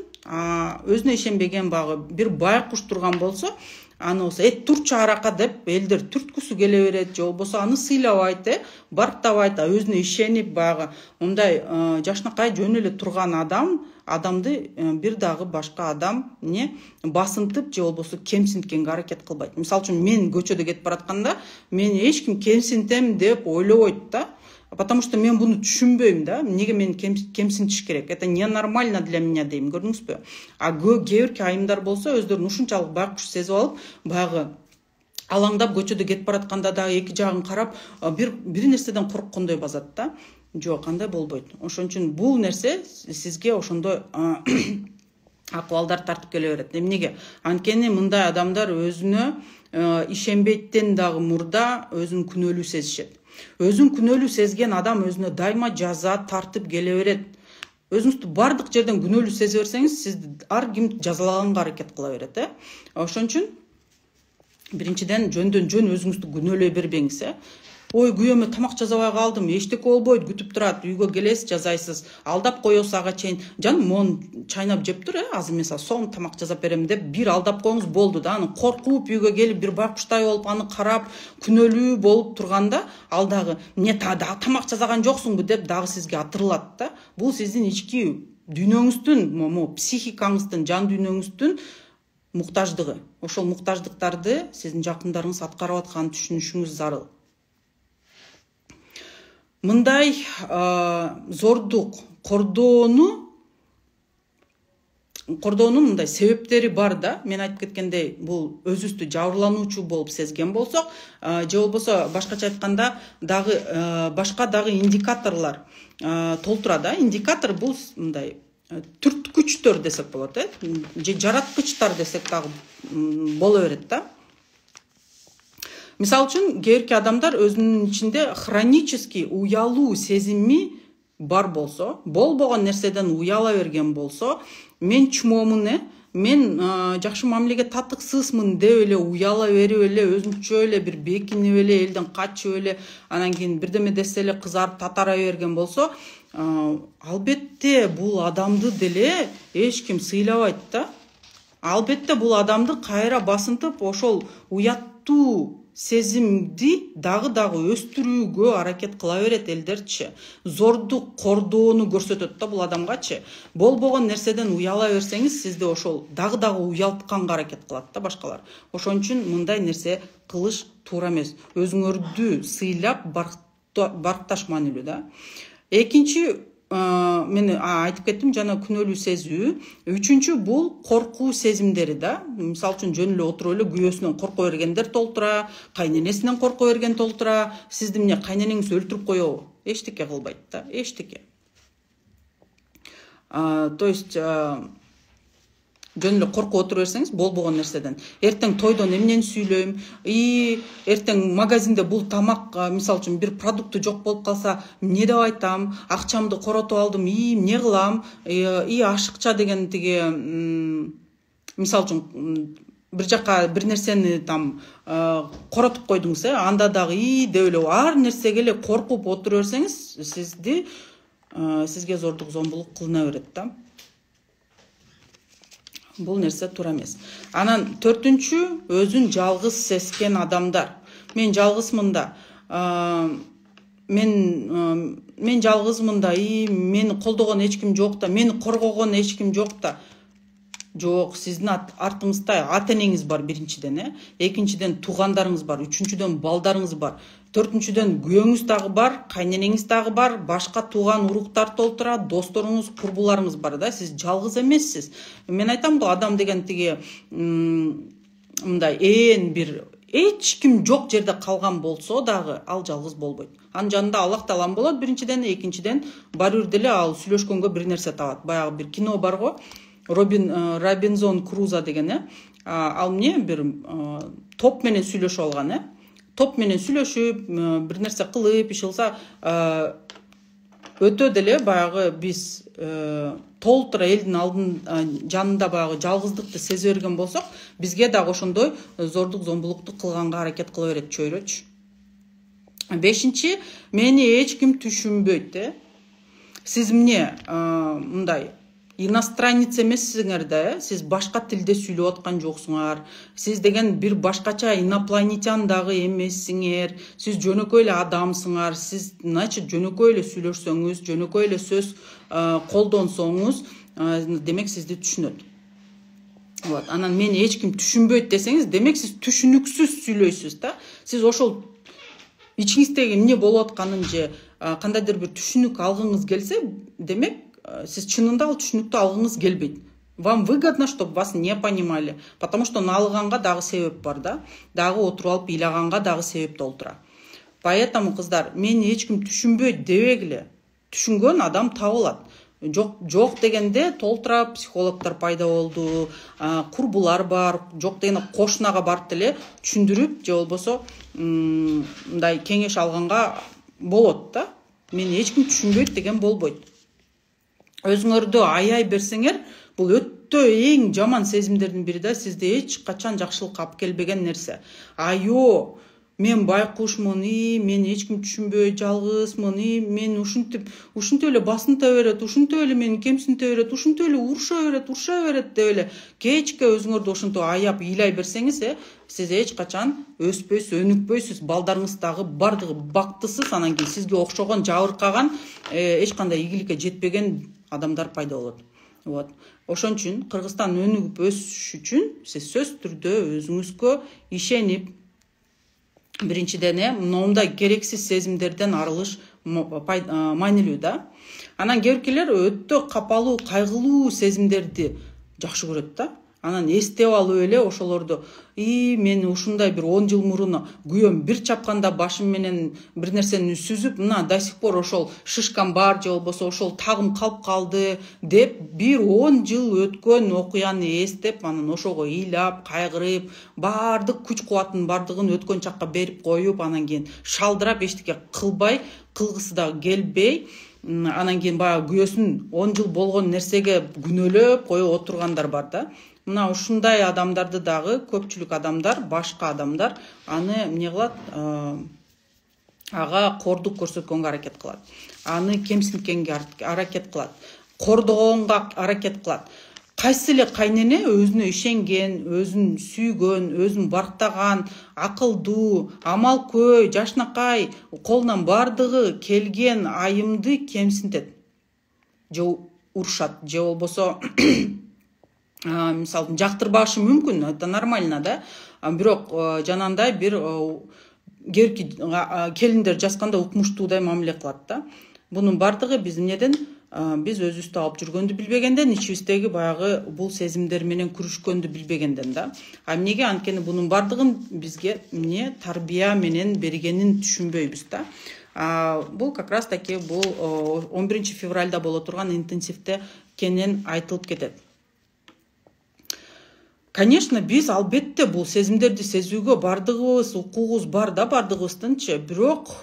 өзүнө ишенбеген багы бир байкуш турган болсо, аны болсо эт турчу арака деп элдер түрткүсү келе берет, же болбосо аны сыйлабайт, э, барктабайт, а өзүнө ишенип баягы мындай жашнакай жөн эле турган адам адамды бир дагы башка адам не басынтып же болбосо кемсинткенге аракет кылбайт. Мисалы үчүн мен көчөдө кетип баратканда, мени эч ким кемсинтем деп ойлобойт да. Потому что мен буну түшүнбөйм да, эмнеге мени кемсинтиш керек? Это ненормально для меня дейм, көрдүңүзбү? А кээ бирки айымдар болсо, өздөрүн ушунчалык байкуш сезип алып, баягы алаңдап көчөдө кетип баратканда дагы эки жагын карап бир бир нерседен корккондой базат да. Жок, андай болбойт. Ошон үчүн бул нерсе сизге ошондой акыбалдар тартып келе берет. Эмнеге? Анткени мындай адамдар өзүнө ишенбейттен дагы мурда өзүн күнөөлүү сезишет. Өзүн күнөөлүү сезген адам өзүнө дайыма жаза тартып келе берет. Өзүңүздү бардык жерден күнөөлүү сезе берсеңиз, сизди ар ким жазалаганга аракет кыла берет, э? Ошон үчүн биринчиден жөндөн жөн өзүңүздү күнөөлөй бербеңиз, э? Ой, күйөөмө тамак жасабай калдым, эчтеке болбойт, күтүп турат, үйгө келесиз, жасайсыз, алдап коесуз ага чейин. Жаным, моун чайнап жеп тур, э, азыр мен сага сом тамак жасап берем деп бир алдап коюңуз болду да. Аны коркуп үйгө келип бир байкуштай болуп аны карап, күнөөлүү болуп турганда, ал дагы "Эмне дагы тамак жасаган жоксуңбу?" деп дагы сизге атырылат да. Бул сиздин ички дүйнөңүздүн, могу психикаңыздын, жан дүйнөңүздүн муктаждыгы. Ошол муктаждыктарды сиздин жакындарыңыз аткарып атканын түшүнүшүңүз зарыл. Мындай зордук кордоону кордоонун мындай себептери бар да. Мен айтып кеткендей, бул өзүбүздү жабырлануучу болуп сезген болсок, же болбосо башкача айтканда дагы башка дагы индикаторлор толтура да. Индикатор бул мындай түрткүчтөр десек болот, э? Же жараткычтар десек дагы боло берет да. Мисалы үчүн, кээбирки адамдар өзүнүн ичинде хронический уялуу сезими бар болсо, болбогон нерседен уяла берген болсо, мен чмомун, э, мен жакшы мамилеге татыксызмын деп эле уяла берип эле, өзүнчө эле бир бекинип эле, элден качып эле, анан кийин бирдеме десе эле кызарып татара берген болсо, албетте бул адамды деле эч ким сыйлабайт да. Албетте бул адамды кайра басынтып, ошол уяттуу сезимди дагы-дагы өстүрүүгө аракет кыла берет элдерчи. Зордук кордоону көрсөтөт да бул адамгачы. Болбогон нерседен уяла берсеңиз, сизди ошол дагы-дагы уялтканга аракет кылат да башкалар. Ошон үчүн мындай нерсе кылыш туура эмес. Өзүңөрдү сыйлап баркташ маанилүү да. Экинчи, мен айтып кеттим жана күнөөлүү сезүү. Үчүнчү бул коркуу сезимдери да. Мисалы үчүн жөн эле отуруп эле күйөөсүнөн корко бергендер толтура, кайненесинен корко берген толтура. Сизди эмне кайненеңиз өлтүрүп коебу? Эчтеке кылбайт да, эчтеке. То есть жөн эле коркуп отура берсеңиз болбогон нерседен. Эртең тойдон эмнени сүйлөйм? И эртең магазинде бул тамак, мисалы үчүн бир продукты жок болуп калса, эмне деп айтам? Акчамды коротуп алдым, и эмне кылам? И ашыкча деген тиги, мисалы үчүн бир жака бир нерсени там коротуп койдуңуз, э, анда дагы и деп эле ар нерсеге эле коркуп отура берсеңиз, сизди сизге зордук зомбулук кылына берет да. Бул нерсе туура эмес. Анан төртүнчү, өзүн жалгыз сезген адамдар. Мен жалгызмын да. Мен мен жалгызмын да, и мени колдогон эч ким жок да, мени коргогон эч ким жок да. Жок, сиздин артыңызда ата-энеңиз бар биринчиден, э? Экинчиден туугандарыңыз бар, үчүнчүдөн балдарыңыз бар. Төртүнчүдөн күйөөңүз дагы бар, кайненеңиз дагы бар, башка тууган уруктар толтура, досторуңуз, курбуларыңыз бар да. Сиз жалгыз эмессиз. Мен айтам го, адам деген тиги мындай ээн бир эч ким жок жерде калган болсо дагы ал жалгыз болбойт. Анын жанында Аллах Таалам болот биринчиден, экинчиден баары бир деле ал сүйлөшкөнгө бир нерсе табат. Баягы бир кино бар го, Робин Робинзон Крузо деген, э? Ал эмне бир топ менен сүйлөшүп алган, э? Топ менен сүйлөшүп, бир нерсе кылып, иш кылса, өтө деле баягы биз толтура элдин алдын жанында баягы жалгыздыкты сезе берген болсок, бизге дагы ошондой зордук зомбулукту кылганга аракет кыла берет чөйрөчү. Бешинчи, мени эч ким түшүнбөйт, э? Сиз эмне мындай иностранец эмессиңер да, э? Сиз башка тилде сүйлөп аткан жоксуңар. Сиз деген бир башкача инопланетян дагы эмессиңер. Сиз жөнөкөй эле адамсыңар. Сиз, значит, жөнөкөй эле сүйлөшсөңүз, жөнөкөй эле сөз колдонсоңуз, демек сизди түшүнөт. Вот, анан мени эч ким түшүнбөйт десеңиз, демек сиз түшүнүксүз сүйлөйсүз да. Сиз ошол ичиңиздеги эмне болуп атканын же кандайдыр бир түшүнүк алгыңыз келсе, демек сиз чынында ал түшүнүктү алгыңыз келбейт. Вам выгодно, чтобы вас не понимали, потому что налыганга дагы себеп бар да, дагы отуруп алып ыйлаганга дагы себеп толтура. Поэтому кыздар, мени эч ким түшүнбөйт дебегиле. Түшүнгөн адам табылат. Жок, жок дегенде толтура психологдор пайда болду, курбулар бар, жок дегенде кошунага барып деле түшүндүрүп, же болбосо мындай кеңеш алганга болот да. Мени эч ким түшүнбөйт деген болбойт. Өзүңөрдү аяй берсеңер, бул өтө эң жаман сезимдердин бири да, сизде эч качан жакшылыкка алып келбеген нерсе. Айо, мен байкушмун, и мени эч ким түшүнбөйт, жалгызмын, и мен ушинтип, ушинтип эле басынта берет, ушинтип эле мени кемсинте берет, ушинтип эле уруша берет, уруша берет деп эле кечке өзүңөрдү ошентип аяп ыйлай берсеңиз, э, сиз эч качан өспөйсүз, өнүкпөйсүз, балдарыңыз дагы бардыгы бактысыз, анан кийин сизге окшогон жабыркаган, эч кандай ийгиликке жетпеген адамдар пайда болот. Вот. Ошон үчүн Кыргызстан өнүгүп өсүш үчүн сиз сөзсүз түрдө өзүңүзгө ишенип, биринчиден мындай керексиз сезимдерден арылыш маанилүү да. Анан кээбиркилер өтө капалуу, кайгылуу сезимдерди жакшы көрөт да. Анан эстеп алып эле ошолорду, и мен ушундай бир он жыл мурун күйөөм бир чапканда башым менен бир нерсени сүзүп, мына до сих пор ошол шишкам бар, же болбосо ошол тагым калып калды деп, бир он жыл өткөн окуяны эстеп, анан ошого ыйлап, кайгырып, баардык күч кубаттын бардыгын өткөн чакка берип коюп, анан кийин шалдырап эчтеке кылбай, кылгысы да келбей, анан кийин баягы күйөөсүн он жыл болгон нерсеге күнөөлөп коюп отургандар бар да. Мына ушундай адамдарды дагы көпчүлүк адамдар, башка адамдар аны эмне кылат? Ага кордук көрсөткөнгө аракет кылат. Аны кемсинткенге аракет кылат. Кордогонго аракет кылат. Кайсы эле кайнене өзүнө ишенген, өзүн сүйгөн, өзүн барктаган, акылдуу, амалкөй, жашнакай, колунан бардыгы келген айымды кемсинтет. Же урушат, же болбосо мисалы жактырбашы мүмкүн, это нормально да. Бирок жанагындай бир керки келиндер жазганда укмуштуудай мамиле кылат да. Бунун бардыгы биз эмнеден, биз өзүбүздү алып жүргөндү билбегенден, ичибиздеги баягы бул сезимдер менен күрүшкөндү билбегенден да. А эмнеге? Анткени бунун бардыгын бизге эмне тарбия менен бергенин түшүнбөйбүз да. Бул как раз таки бул он биринчи февралда боло турган интенсивде кенен айтылып кетет. Конечно, биз албетте бул сезимдерди сезүүгө бардыгыбыз укугубуз бар да, бардыгыбыздынчы. Бирок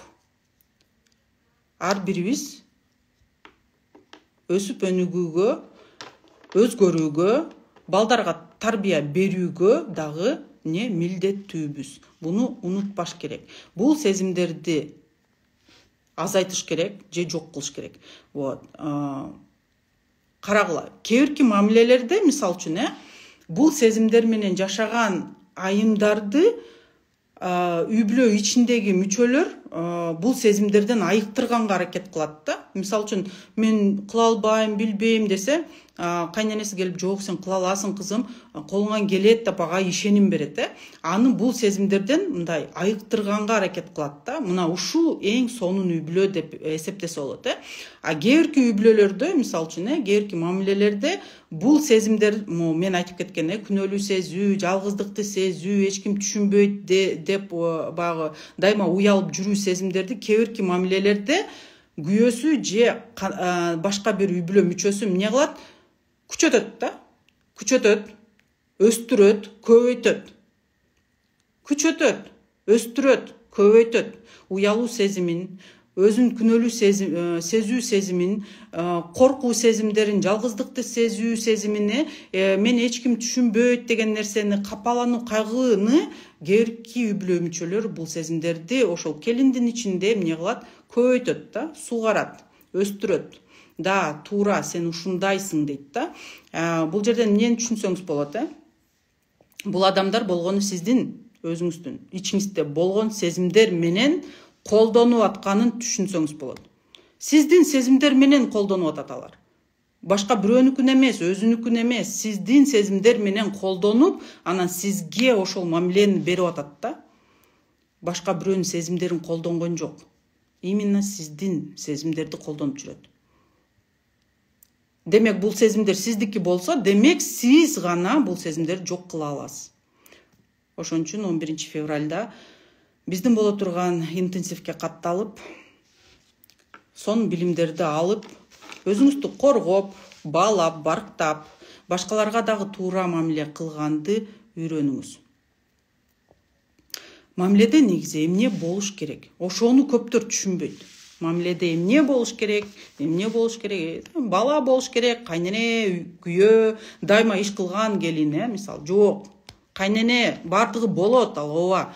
ар бирибиз өсүп өнүгүүгө, өзгөрүүгө, балдарга тарбия берүүгө дагы не милдеттүүбүз. Буну унутпаш керек. Бул сезимдерди азайтыш керек же жок кылыш керек. Вот. Карагыла, кээбирки мамилелерде, мисалы үчүн, э, бул сезимдер менен жашаган айымдарды үй бүлө ичиндеги мүчөлөр бул сезимдерден айыктырганга аракет кылат да. Мисалы үчүн, мен кыла албайм, билбейм десе, кайненеси келип, жок, сен кыла аласың кызым, колуңан келет деп ага ишеним берет, э. Аны бул сезимдерден мындай айыктырганга аракет кылат да. Мына ушул эң сонун үй бүлө деп эсептесе болот, э. А кээбирки үй бүлөлөрдө, мисалы үчүн, э, кээбирки мамилелерде бул сезимдер, мен айтып кеткен, э, күнөөлүү сезүү, жалгыздыкты сезүү, эч ким түшүнбөйт деп баягы дайыма уялып жүрүү сезимдерди кээбирки мамилелерде күйөөсү же башка бир үй бүлө мүчөсү эмне кылат? Күчөтөт да. Күчөтөт, өстүрөт, көбөйтөт. Күчөтөт, өстүрөт, көбөйтөт. Уялуу сезимин, өзүн күнөөлүү сезүү сезимин, коркуу сезимдерин, жалгыздыкты сезүү сезимини, мен эч ким түшүнбөйт деген нерсени, капалануу, кайгыны кээбирки үй бүлө мүчөлөр бул сезимдерди ошол келиндин ичинде эмне кылат? Көбөйтөт да, сугарат, өстүрөт. Да, туура, сен ушундайсың дейт да. Бул жерден эмнени түшүнсөңүз болот, э? Бул адамдар болгону сиздин өзүңүздүн ичиңизде болгон сезимдер менен колдонуп атканын түшүнсөңүз болот. Сиздин сезимдер менен колдонуп атат алар. Башка бирөөнүкүн эмес, өзүнүкүн эмес, сиздин сезимдер менен колдонуп, анан сизге ошол мамилени берип атат да. Башка бирөөнүн сезимдерин колдонгон жок. Именно сиздин сезимдерди колдонуп жүрөт. демек бул сезимдер сиздики болсо, демек сиз гана бул сезимдерди жок кыла аласыз. Ошон үчүн он биринчи февралда биздин боло турган интенсивке катталып, сон билимдерди алып, өзүңүздү коргоп, баалап, барктап, башкаларга дагы туура мамиле кылганды үйрөнүңүз. Мамиледе негизи эмне болуш керек? Ошону көптөр түшүнбөйт. Мамиледе эмне болуш керек? Эмне болуш керек? Бала болуш керек, кайнене, күйөө, дайыма иш кылган келин, э, мисалы, жок. Кайнене бардыгы болот, ал ооба.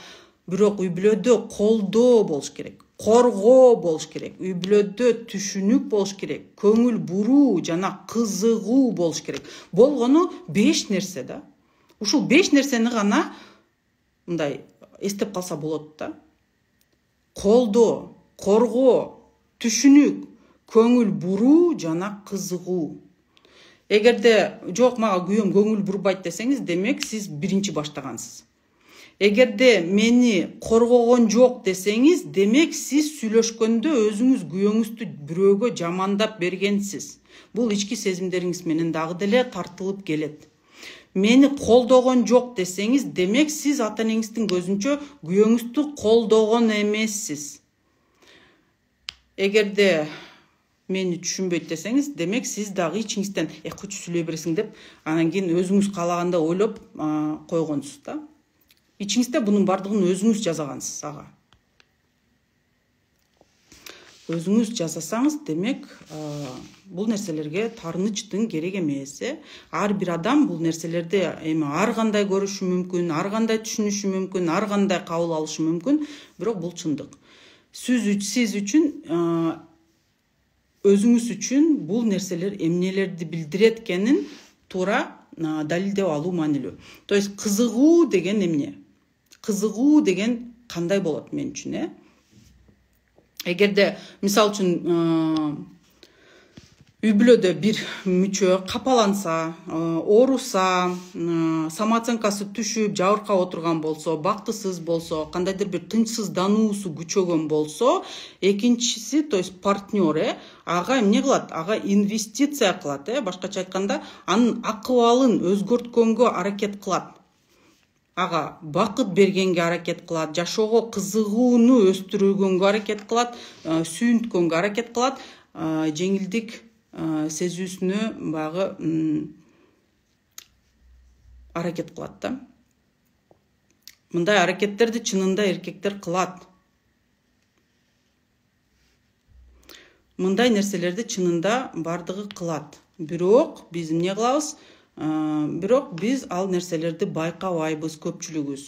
Бирок үй бүлөдө колдоо болуш керек. Коргоо болуш керек. Үй бүлөдө түшүнүк болуш керек. Көңүл буруу жана кызыгуу болуш керек. Болгону беш нерсе да. Ушул беш нерсени гана мындай эстеп калса болот да. Колдоо, коргоо, түшүнүк, көңүл буруу жана кызыгуу. Эгерде жок, мага күйөөм көңүл бурбайт десеңиз, демек сиз биринчи баштагансыз. Эгерде мени коргогон жок десеңиз, демек сиз сүйлөшкөндө өзүңүз күйөөңүздү бирөөгө жамандап бергенсиз. Бул ички сезимдериңиз менен дагы деле тартылып келет. Мени колдогон жок десеңиз, демек сиз ата-энеңиздин көзүнчө күйөөңүздү колдогон эмессиз. Эгерде мени түшүнбөйт десеңиз, демек сиз дагы ичиңизден э кучу сүйлөй бересиң деп, анан кийин өзүңүз каалаганда ойлоп койгонсуз да. Ичиңизде бунун бардыгын өзүңүз жасагансыз ага. Өзүңүз жасасаңыз, демек бул нерселерге тарынычтын керек эмес. Ар бир адам бул нерселерди эми ар кандай көрүшү мүмкүн, ар кандай түшүнүшү мүмкүн, ар кандай кабыл алышы мүмкүн, бирок бул чындык. Сиз үчүн, өзүңүз үчүн бул нерселер эмнелерди билдирет экенин туура далилдеп алуу маанилүү. То есть кызыгуу деген эмне? Кызыгуу деген кандай болот мен үчүн, э? Эгерде мисал үчүн үй бүлөдө бир мүчө капаланса, ооруса, самооценкасы түшүп, жабыркап отурган болсо, бактысыз болсо, кандайдыр бир тынчсыздануусу күчөгөн болсо, экинчиси, то есть партнер, э, ага эмне кылат? Ага инвестиция кылат, э, башкача айтканда, анын акыбалын өзгөрткөнгө аракет кылат. Ага бакыт бергенге аракет кылат, жашоого кызыгууну өстүргөнгө аракет кылат, сүйүнткөнгө аракет кылат, жеңилдик сезүүсүнө багы аракет кылат да. Мындай аракеттерди чынында эркектер кылат. Мындай нерселерди чынында бардыгы кылат. Бирок биз эмне кылабыз? Бирок биз ал нерселерди байкабайбыз көпчүлүгүбүз.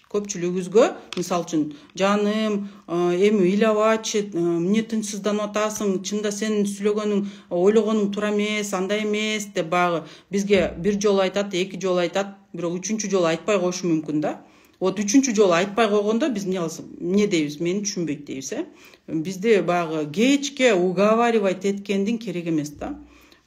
Көпчүлүгүбүзгө, мисал үчүн, жаным, эми ыйлабачы, эмне тынчсызданып атасың, чында сенин сүйлөгөнүң, ойлогонуң туура эмес, андай эмес деп багы бизге бир жолу айтат, эки жолу айтат, бирок үчүнчү жолу айтпай коюшу мүмкүн да. Вот үчүнчү жолу айтпай койгондо биз эмне кылабыз? Эмне дейбиз? Мени түшүнбөйт дейбиз, э? Бизди багы кечке уговаривать эткендин керек эмес да.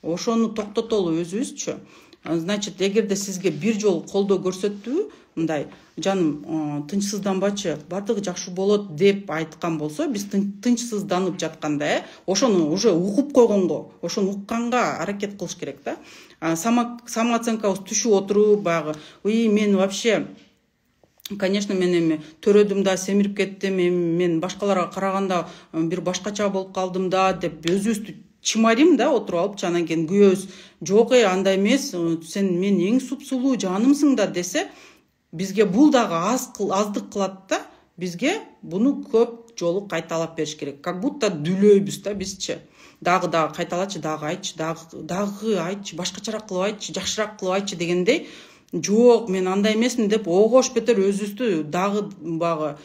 Ошону токтотолу өзүбүзчү. Значит, эгерде сизге бир жолу колдоо көрсөттүбү, мындай, жаным, тынчсызданбачы, бардыгы жакшы болот деп айткан болсо, биз тынчсызданып жатканда, э, ошону уже угуп койгонго, ошону укканга аракет кылыш керек да. Самооценкабыз түшүп отуруп, багы, уй, мен вообще, конечно, мен эми төрөдүм да, семирип кеттим, эми мен башкаларга караганда бир башкача болуп калдым да деп өзүбүздү чымарим да, отуруп алып, анан кийин күйөөбүз, жок, э, андай эмес, сен мен эң супсулуу жанымсың да десе, бизге бул дагы аз аздык кылат да, бизге буну көп жолу кайталап бериш керек. Как будто дүлөйбүз да бизчи. Дагы дагы кайталачы, дагы айтчы, дагы дагы айтчы, башкачараак кылып айтчы, жакшыраак кылып айтчы дегендей, жок, мен андай эмесмин деп огош бетер өзүбүздү дагы багы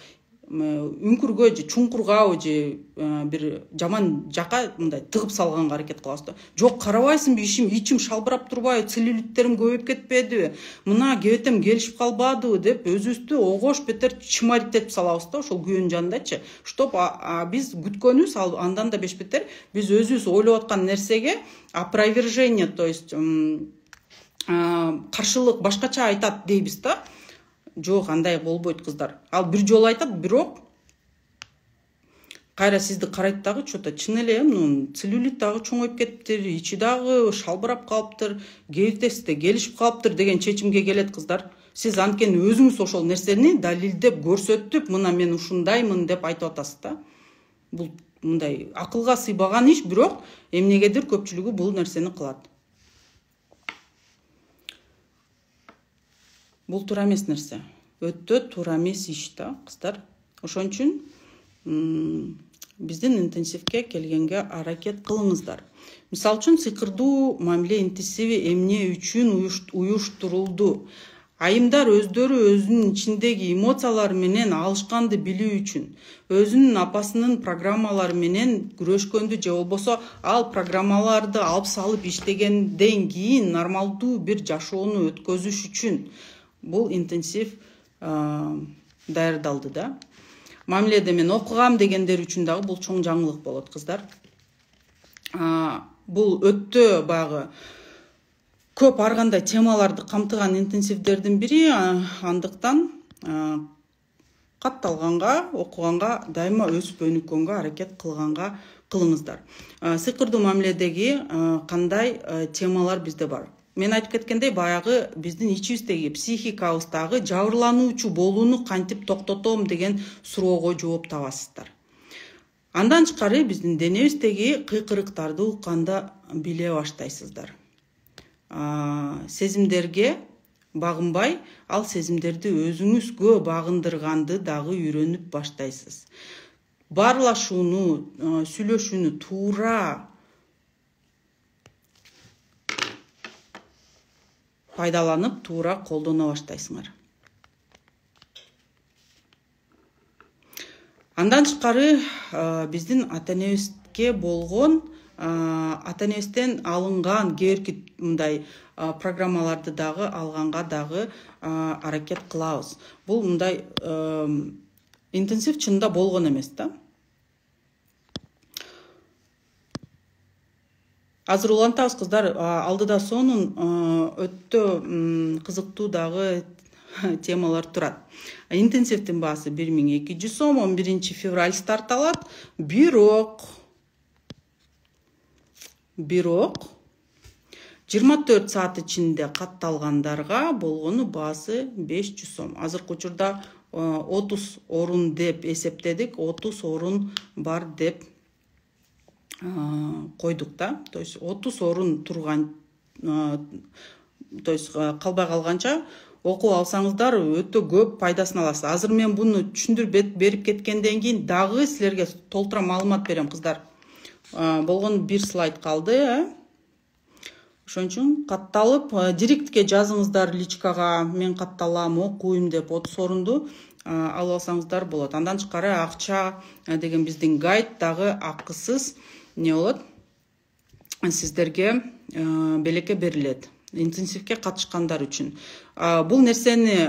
үңкүргө же чуңкургабы же бир жаман жака мындай тыгып салганга аракет кылабыз да. Жок, карабайсыңбы, ишим ичим шалбырап турбайбы, целлюлиттерим көбөйүп кетпедиби, мына кебетем келишип калбадыбы деп өзүбүздү огош бетер чымаритетип салабыз да ошол күйөөнүн жанындачы. Чтоб биз күткөнүбүз, ал андан да беш бетер биз өзүбүз ойлоп аткан нерсеге опровержение, то есть каршылык башкача айтат дейбиз да. Жок, андай болбойт кыздар. Ал бир жолу айтат, бирок кайра сизди карайт дагы, что-то чын эле мунун целлюлит дагы чоңоюп кетиптир, ичи дагы шалбырап калыптыр, кебиртеси да келишип калыптыр деген чечимге келет кыздар. Сиз анткени өзүңүз ошол нерсени далилдеп, көрсөтүп, мына мен ушундаймын деп айтып атасыз да. Бул мындай акылга сыйбаган иш, бирок эмнегедир көпчүлүгү бул нерсени кылат. Бул туура эмес нерсе. Өтө туура эмес иш да, кыздар. Ошон үчүн биздин интенсивке келгенге аракет кылыңыздар. Мисалы үчүн сыйкырдуу мамиле интенсиви эмне үчүн уюштурулду? Айымдар өздөрү өзүнүн ичиндеги эмоциялар менен алышканды билүү үчүн, өзүнүн апасынын программалары менен күрөшкөндү же болбосо ал программаларды алып салып иштегенден кийин нормалдуу бир жашоону өткөзүш үчүн бул интенсив даярдалды да. Мамиледе мен окугам дегендер үчүн дагы бул чоң жаңылык болот, кыздар. Бул өтө багы көп ар кандай темаларды камтыган интенсивдердин бири, андыктан катталганга, окуганга, дайыма өсүп өнүккөнгө аракет кылганга кылыңыздар. Сыйкырдуу мамиледеги кандай темалар бизде бар? Мен айтып кеткендей, баягы биздин ичибиздеги психикабыздагы жабырлануучу болууну кантип токтотом деген суроого жооп табасыздар. Андан тышкары биздин денебиздеги кыйкырыктарды укканда биле баштайсыздар. Сезимдерге багынбай, ал сезимдерди өзүңүзгө багындырганды дагы үйрөнүп баштайсыз. Баарлашууну, сүйлөшүүнү туура пайдаланып, туура колдоно баштайсыңар. Андан тышкары биздин ата-энебизге болгон, ата-энебизден алынган кээ мындай программаларды дагы алганга дагы аракет кылабыз. Бул мындай интенсив чынында болгон эмес да. Азыр улантабыз, кыздар, алдыда сонун өтө кызыктуу дагы темалар турат. Интенсивдин баасы бир миң эки жүз сом, он биринчи февраль старт алат. Бирок бирок жыйырма төрт саат ичинде катталгандарга болгону баасы беш жүз сом. Азыркы учурда отуз орун деп эсептедик, отуз орун бар деп койдук да. То есть отуз орун турган, то есть калбай калганча окуп алсаңыздар өтө көп пайдасын аласыз. Азыр мен буну түшүндүрүп берип кеткенден кийин дагы силерге толтура маалымат берем, кыздар. Болгон бир слайд калды. Ошон үчүн катталып, директке жазыңыздар личкага, мен катталам, окуйм деп отуз орунду алып алсаңыздар болот. Андан тышкары акча деген биздин гайд дагы акысыз не болот? Сиздерге белекке берилет. Интенсивке катышкандар үчүн. Бул нерсени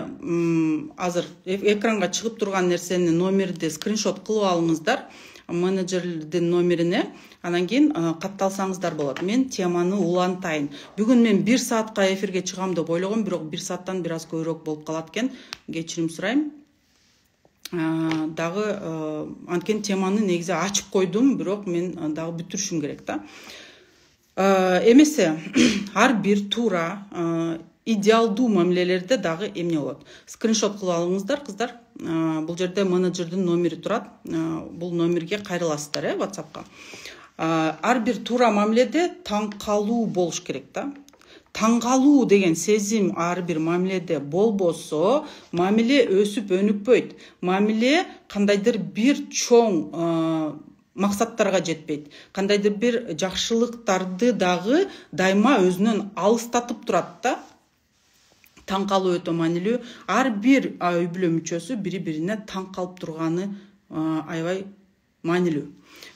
азыр экранга чыгып турган нерсени номерди скриншот кылып алыңыздар, менеджердин номерине, анан кийин катталсаңыздар болот. Мен теманы улантайын. Бүгүн мен бир саатка эфирге чыгам деп ойлогом, бирок бир сааттан бир аз көбүрөөк болуп калат экен. Кечирим сурайм. Дагы анткени теманы негизи ачып койдум, бирок мен дагы бүтүрүшүм керек да. Эмесе ар бир туура идеалдуу мамилелерде дагы эмне болот? Скриншот кылып алыңыздар, кыздар. Бул жерде менеджердин номери турат. Бул номерге кайрыласыздар, э, WhatsAppка. Ар бир туура мамиледе таң калуу болуш керек да. Таң калуу деген сезим ар бир мамиледе болбосо, мамиле өсүп өнүкпөйт. Мамиле кандайдыр бир чоң максаттарга жетпейт. Кандайдыр бир жакшылыктарды дагы дайыма өзүнөн алыстатып турат да. Таң калуу өтө маанилүү. Ар бир үй бүлө мүчөсү бири-бирине таң калып турганы аябай маанилүү.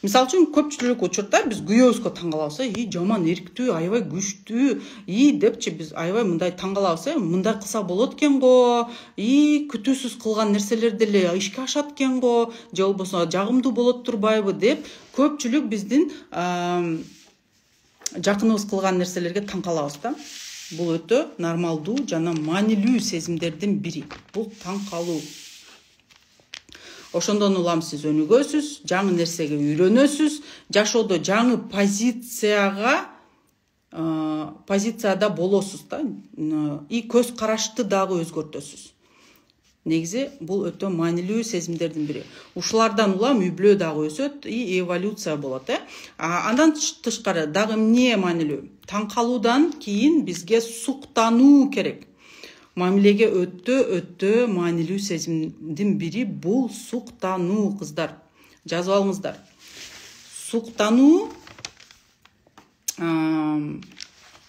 Мисалы үчүн көпчүлүк учурда биз күйөөбүзгө таң калабыз, и жаман эрктүү, аябай күчтүү, и депчи биз аябай мындай таң калабыз, э, мындай кылса болот экен го, и күтүүсүз кылган нерселер деле ишке ашат экен го, же болбосо жагымдуу болот турбайбы деп көпчүлүк биздин жакыныбыз кылган нерселерге таң калабыз да. Бул өтө нормалдуу жана маанилүү сезимдердин бири. Бул таң калуу. Ошондон улам сиз өнүгөсүз, жаңы нерсеге үйрөнөсүз, жашоодо жаңы позицияга позицияда болосуз да, и көз карашты дагы өзгөртөсүз. Негизи бул өтө маанилүү сезимдердин бири. Ушулардан улам үй бүлө дагы өсөт и эволюция болот, э. Андан тышкары дагы эмне маанилүү? Таң калуудан кийин бизге суктануу керек. Мамилеге өтө өтө маанилүү сезимдин бири бул суктануу, кыздар. Жазып алыңыздар. Суктануу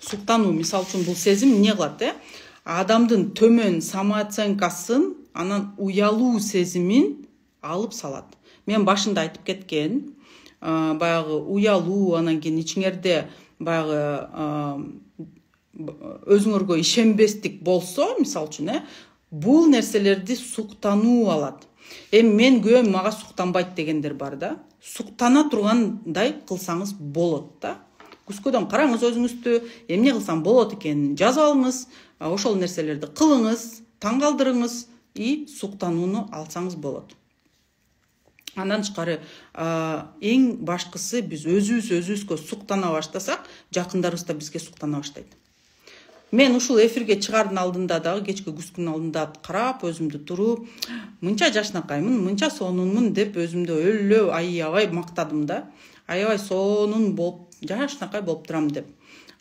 суктануу мисалы үчүн бул сезим эмне кылат, э? Адамдын төмөн самооценкасын, анан уялуу сезимин алып салат. Мен башында айтып кеткен, баягы уялуу, анан кийин ичиңерде баягы өзүңөргө ишенбестик болсо, мисалы үчүн, э, бул нерселерди суктануу алат. Эми мен күйөөм мага суктанбайт дегендер бар да. Суктана тургандай кылсаңыз болот да. Күскөдөн караңыз өзүңүздү, эмне кылсам болот экенин жазып алыңыз, ошол нерселерди кылыңыз, таң калтырыңыз и суктанууну алсаңыз болот. Андан тышкары эң башкысы биз өзүбүз өзүбүзгө суктана баштасак, жакындарыбыз да бизге суктана баштайт. Мен ушул эфирге чыгаардын алдында дагы, кечки күскүнүн алдында карап, өзүмдү туруп, мынча жашнакаймын, мынча сонунмун деп өзүмдү өлө аябай мактадым да. Аябай сонун болуп, жашнакай болуп турам деп.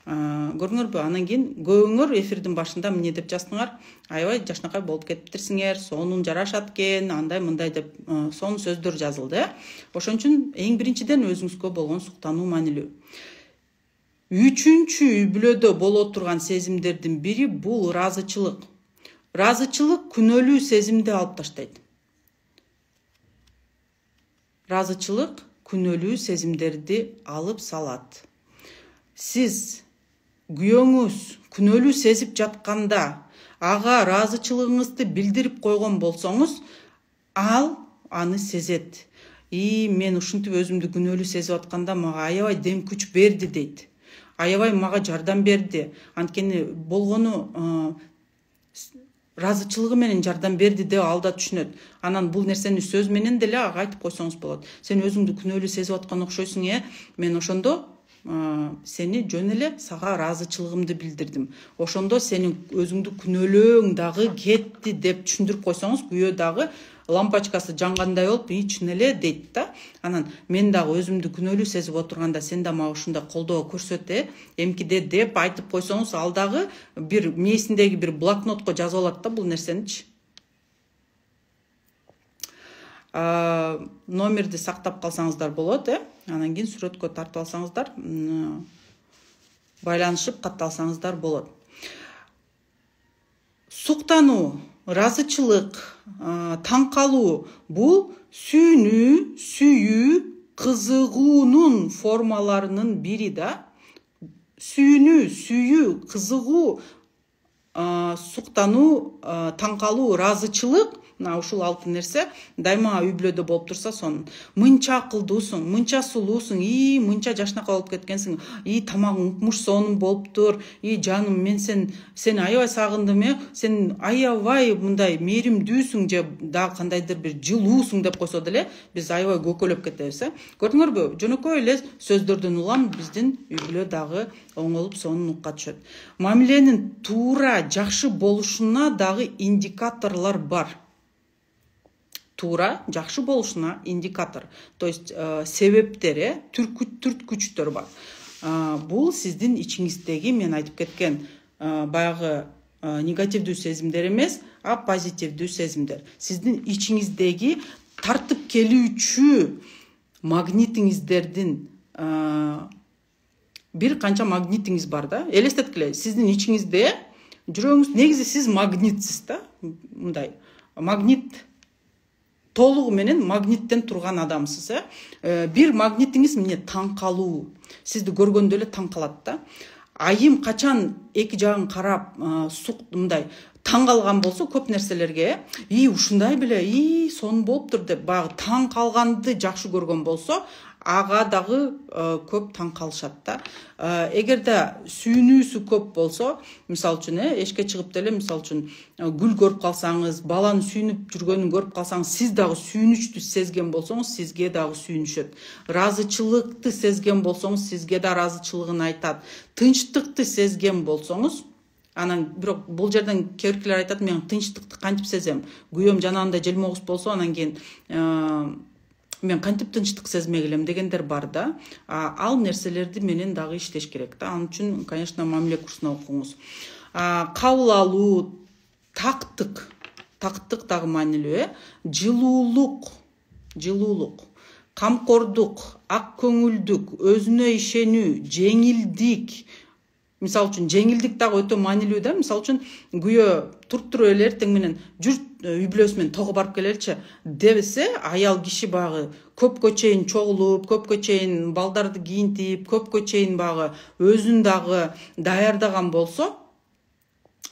Көрдүңөрбү? Анан кийин көбүңөр эфирдин башында эмне деп жаздыңар? Аябай жашнакай болуп кетиптирсиңер, сонун жарашат экен, андай мындай деп сонун сөздөр жазылды. Ошон үчүн эң биринчиден өзүңүзгө болгон суктануу маанилүү. Үчүнчү үй бүлөдө боло турган сезимдердин бири бул ыраазычылык. Ыраазычылык күнөөлүү сезимди алып таштайт. Ыраазычылык күнөөлүү сезимдерди алып салат. Сиз күйөөңүз күнөөлүү сезип жатканда ага ыраазычылыгыңызды билдирип койгон болсоңуз, ал аны сезет. И мен ушинтип өзүмдү күнөөлүү сезип атканда мага аябай дем күч берди дейт. Аябай мага жардам берди. Анткени болгону ыраазычылыгы менен жардам берди деп ал да түшүнөт. Анан бул нерсени сөз менен деле ага айтып койсоңуз болот. Сен өзүңдү күнөөлүү сезип аткан окшойсуң, э? Мен ошондо сени жөн эле сага ыраазычылыгымды билдирдим. Ошондо сенин өзүңдү күнөөлөөң дагы кетти деп түшүндүрүп койсоңуз, күйөө дагы лампочкасы жангандай болуп, и чын эле дейт да. Анан мен дагы өзүмдү күнөөлүү сезип отурганда сен да мага ушундай колдоо көрсөт, э, эмкиде деп айтып койсоңуз, ал дагы бир мээсиндеги бир блокнотко жазып алат да бул нерсеничи. Номерди сактап калсаңыздар болот, э? Анан кийин сүрөткө тартып алсаңыздар, байланышып катталсаңыздар болот. Суктануу, ыраазычылык, таң калуу бул сүйүнүү, сүйүү, кызыгуунун формаларынын бири да. Сүйүнүү, сүйүү, кызыгуу, суктануу, таң калуу, ыраазычылык, ушул алты нерсе дайыма үй бүлөдө болуп турса, сонун. Мынча акылдуусуң, мынча сулуусуң, и мынча жашнакай болуп кеткенсиң, и тамагың укмуш сонун болуптур, и жаным мен сен сени аябай сагындым, э, сен аябай мындай мээримдүүсүң же дагы кандайдыр бир жылуусуң деп койсо деле, биз аябай көкөлөп кетебиз, э. Көрдүңөрбү? Жөнөкөй эле сөздөрдөн улам биздин үй бүлө дагы оңолуп сонун нукка түшөт. Мамиленин туура, жакшы болушуна дагы индикаторлор бар. Туура, жакшы болушуна индикатор, то есть себептер, э, түрткүчтөр бар. Бул сиздин ичиңиздеги, мен айтып кеткен баягы негативдүү сезимдер эмес, а позитивдүү сезимдер. Сиздин ичиңиздеги тартып келүүчү магнитиңиздердин бир канча магнитиңиз бар да. Элестеткиле, сиздин ичиңизде жүрөгүңүз, негизи сиз магнитсиз да, мындай. Магнит толугу менен магниттен турган адамсыз, э. Бир магнитиңиз эмне? Таң калуу. Сизди көргөндө эле таң калат да. Айым качан эки жагын карап, сук мындай таң калган болсо көп нерселерге, и ушундай беле, и сонун болуптур деп баягы таң калганды жакшы көргөн болсо, ага дагы көп таң калышат да. Эгерде сүйүнүүсү көп болсо, мисалы үчүн э эшикке чыгып деле мисалы үчүн гүл көрүп калсаңыз, баланын сүйүнүп жүргөнүн көрүп калсаңыз, сиз дагы сүйүнүчтү сезген болсоңуз, сизге дагы сүйүнүшөт. Ыраазычылыкты сезген болсоңуз, сизге да ыраазычылыгын айтат. Тынчтыкты сезген болсоңуз, анан бирок бул жерден кээ биркилер айтат, мен тынчтыкты кантип сезем? Күйөөм жанагындай желмогуз болсо, анан кийин мен кантип тынчтык сезмей келем дегендер бар да. Ал нерселерди менен дагы иштеш керек да. Ал үчүн, конечно, мамиле курсуна окуңуз. Кабыл алуу, тактык, тактык дагы маанилүү э. Жылуулук, жылуулук, камкордук, ак көңүлдүк, өзүнө ишенүү, жеңилдик. Мисалы үчүн жеңилдик дагы өтө маанилүү да. Мисалы үчүн күйөө туруп туруп эле эртең менен жүр үй бүлөсү менен того барып келеличи десе, аял киши багы көпкө чейин чогулуп, көпкө чейин балдарды кийинтип, көпкө чейин багы өзүн дагы даярдаган болсо,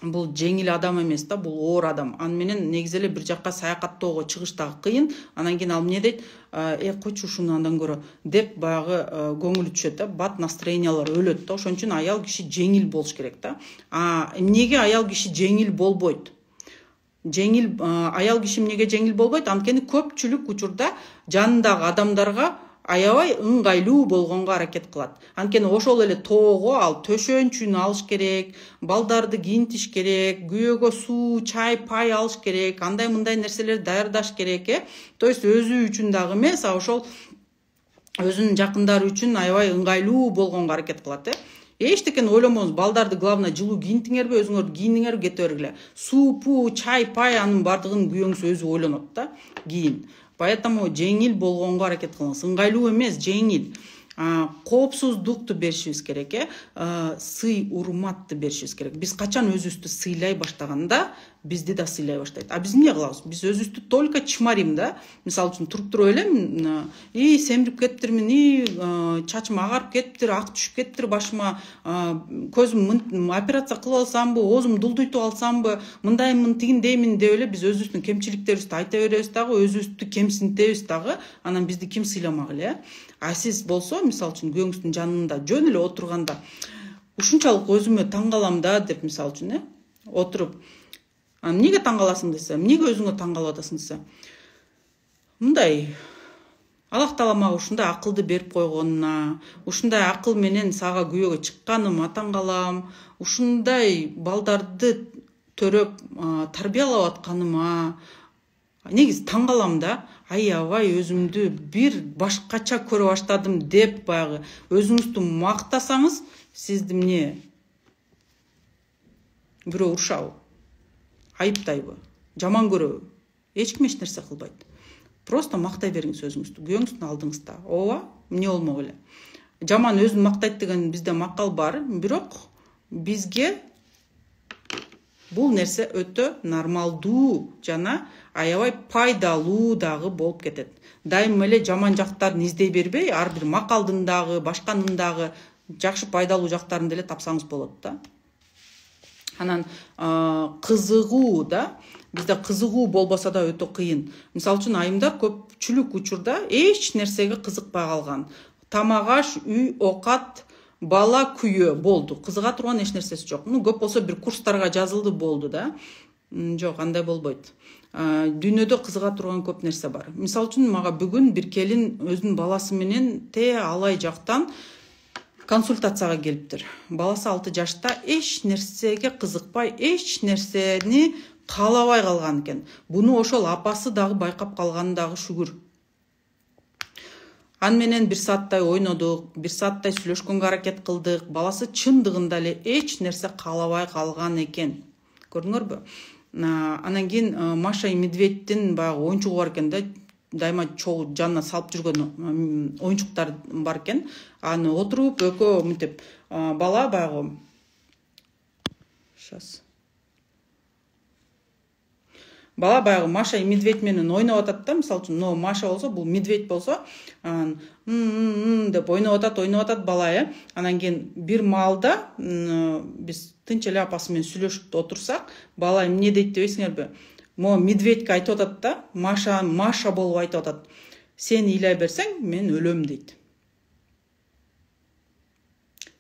бул жеңил адам эмес да, бул оор адам. Аны менен негизи эле бир жакка саякаттоого чыгыш дагы кыйын. Анан кийин ал эмне дейт? Э, койчу ушуну андан көрө деп баягы көңүлү түшөт да, бат настроениялар өлөт да. Ошон үчүн аял киши жеңил болуш керек да. А эмнеге аял киши жеңил болбойт? Жеңил аял киши эмнеге жеңил болбойт? Анткени көпчүлүк учурда жанындагы адамдарга аябай ыңгайлуу болгонго аракет кылат. Анткени ошол эле тоого ал төшөнчүн алыш керек, балдарды кийинтиш керек, күйөөгө суу, чай, пай алыш керек, андай мындай нерселерди даярдаш керек э. То есть өзү үчүн дагы эмес, а ошол өзүнүн жакындары үчүн аябай ыңгайлуу болгонго аракет кылат э. Эчтекени ойломоңуз, балдарды главное жылуу кийинтиңерби, өзүңөр кийиниңерби, кете бергиле. Суу-пуу, чай, пай анын бардыгын күйөөңүз өзү ойлонот да, кийин. Поэтому жеңил болгонго аракет кылыңыз. Ыңгайлуу эмес, жеңил. Коопсуздукту беришибиз керек э. Сый, урматты беришибиз керек. Биз качан өзүбүздү сыйлай баштаганда, бизди да сыйлай баштайт. А биз эмне кылабыз? Биз өзүбүздү только чмарим да. Мисалы үчүн туруп туруп эле, и семирип кетиптирмин, и чачым агарып кетиптир, ак түшүп кетиптир башыма, көзүм операция кылып алсамбы, оозум дулдуйтуп алсамбы, мындаймын, тигиндеймин деп эле биз өзүбүздүн кемчиликтерибизди айта беребиз дагы, өзүбүздү кемсинтебиз дагы. Анан бизди ким сыйламак эле? А сиз болсо, мисалы үчүн күйөөңүздүн жанында жөн эле отурганда, ушунчалык өзүмө таң калам да деп мисалы үчүн э, отуруп, эмнеге таң каласың десе, эмнеге өзүңө таң калып атасың десе, мындай Аллах Таала мага ушундай акылды берип койгонуна, ушундай акыл менен сага күйөөгө чыкканыма таң калам, ушундай балдарды төрөп тарбиялап атканыма негизи таң калам да. Аябай өзүмдү бир башкача көрө баштадым деп баягы өзүңүздү мактасаңыз, сизди эмне бирөө урушабы, айыптайбы, жаман көрөбү? Эч ким эч нерсе кылбайт. Просто мактай бериңиз өзүңүздү, күйөөңүздүн алдыңызда. Ооба, эмне болмок эле. Жаман өзүн мактайт деген бизде макал бар, бирок бизге бул нерсе өтө нормалдуу жана аябай пайдалуу дагы болуп кетет. Дайыма эле жаман жактарын издей бербей, ар бир макалдын дагы, башканын дагы жакшы пайдалуу жактарын деле тапсаңыз болот да. Анан кызыгуу да, бизде кызыгуу болбосо да өтө кыйын. Мисалы үчүн айымдар көпчүлүк учурда эч нерсеге кызыкпай калган. Тамак аш, үй, оокат, бала, күйөө болду. Кызыга турган эч нерсеси жок. Ну, көп болсо бир курстарга жазылды болду да. Жок, андай болбойт. Дүйнөдө кызыга турган көп нерсе бар. Мисалы үчүн мага бүгүн бир келин өзүнүн баласы менен те алай жактан консультацияга келиптир. Баласы алты жашта, эч нерсеге кызыкпай, эч нерсени каалабай калган экен. Буну ошол апасы дагы байкап калганы дагы шүгүр. Ан менен бир сааттай ойнодук, бир сааттай сүйлөшкөнгө аракет кылдык. Баласы чындыгында эле эч нерсе каалабай калган экен. Көрдүңөрбү? Анан кийин Маша и Медведьтин баягы оюнчугу бар экен да, дайыма чогуу жанына салып жүргөн оюнчуктар бар экен. Аны отуруп экөө мынтип бала баягы сейчас Бала баягы Маша и Медведь менен ойноп атат да, мисалы үчүн, но Маша болсо, бул Медведь болсо, м деп ойноп атат, ойноп атат бала э. Анан кийин бир маалда биз тынч эле апасы менен сүйлөшүп отурсак, бала эмне дейт дебейсиңерби? Могу Медведьке айтып атат да, Маша Маша болуп айтып атат. Сен ыйлай берсең, мен өлөм дейт.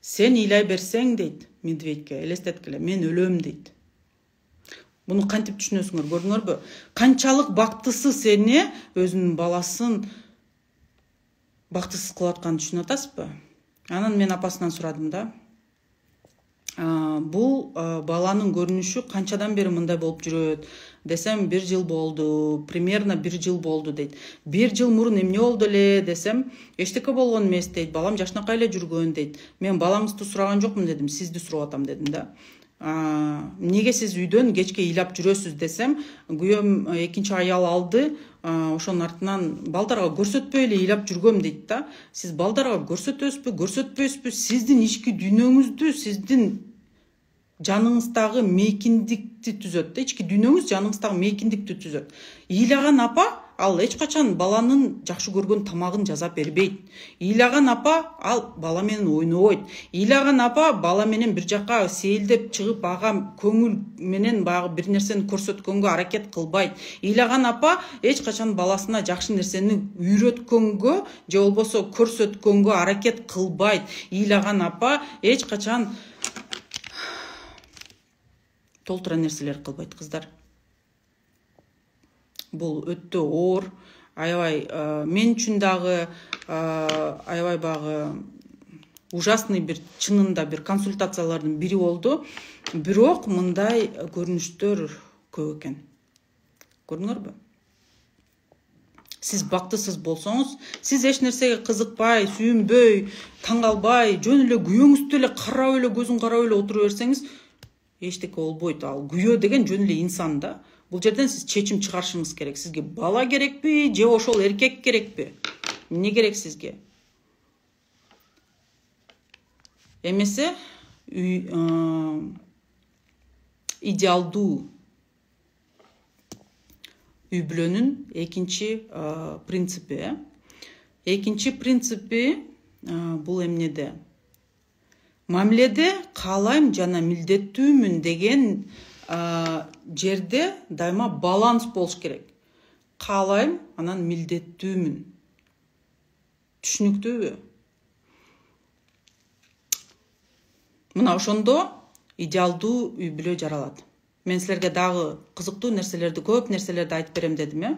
Сен ыйлай берсең дейт медведьке, элестеткиле, мен өлөм дейт. Буну кантип түшүнөсүңөр, көрдүңөрбү? Канчалык бактысы сени өзүнүн баласын бактысыз кылып атканын түшүнүп атасызбы? Анан мен апасынан сурадым да. Бул баланын көрүнүшү канчадан бери мындай болуп жүрөт? Десем, бир жыл болду, примерно бир жыл болду дейт. Бир жыл мурун эмне болду эле десем, эчтеке болгон эмес дейт. Балам жашынакай эле жүргөн дейт. Мен балаңызды сураган жокмун дедим, сизди сурап атам дедим да. Неге сиз үйдөн кечке ыйлап жүрөсүз десем, күйөөм экинчи аял алды, ошонун артынан балдарга көрсөтпөй эле ыйлап жүргөм дейт да. Сиз балдарга көрсөтөсүзбү, көрсөтпөйсүзбү, сиздин ички дүйнөңүздү, сиздин жаныңыздагы мейкиндикти түзөт да, ички дүйнөңүз жаныңыздагы мейкиндикти түзөт. Ыйлаган апа ал эч качан баланын жакшы көргөн тамагын жасап бербейт. Ыйлаган апа ал бала менен ойнобойт. Ыйлаган апа бала менен бир жакка сейилдеп чыгып, ага көңүл менен баягы бир нерсени көрсөткөнгө аракет кылбайт. Ыйлаган апа эч качан баласына жакшы нерсени үйрөткөнгө же болбосо көрсөткөнгө аракет кылбайт. Ыйлаган апа эч качан толтура нерселер кылбайт, кыздар. Бул өтө оор, аябай мен үчүн дагы аябай багы ужасный бир чынында бир консультациялардын бири болду. Бирок мындай көрүнүштөр көп экен. Көрдүңөрбү? Сиз бактысыз болсоңуз, сиз эч нерсеге кызыкпай, сүйүнбөй, таң калбай, жөн эле күйөөңүздү эле карап эле, көзүн карап эле отура берсеңиз, эчтеке болбойт. Ал күйөө деген жөн эле инсан да. Бул жерден сиз чечим чыгарышыңыз керек. Сизге бала керекпи, же ошол эркек керекпи? Эмне керек сизге? Эмесе идеалдуу үй бүлөнүн экинчи принципи. Экинчи принципи бул эмнеде? Мамиледе каалайм жана милдеттүүмүн деген жерде дайыма баланс болуш керек. Каалайм, анан милдеттүүмүн. Түшүнүктүүбү? Мына ошондо идеалдуу үй бүлө жаралат. Мен силерге дагы кызыктуу нерселерди, көп нерселерди айтып берем дедим, э?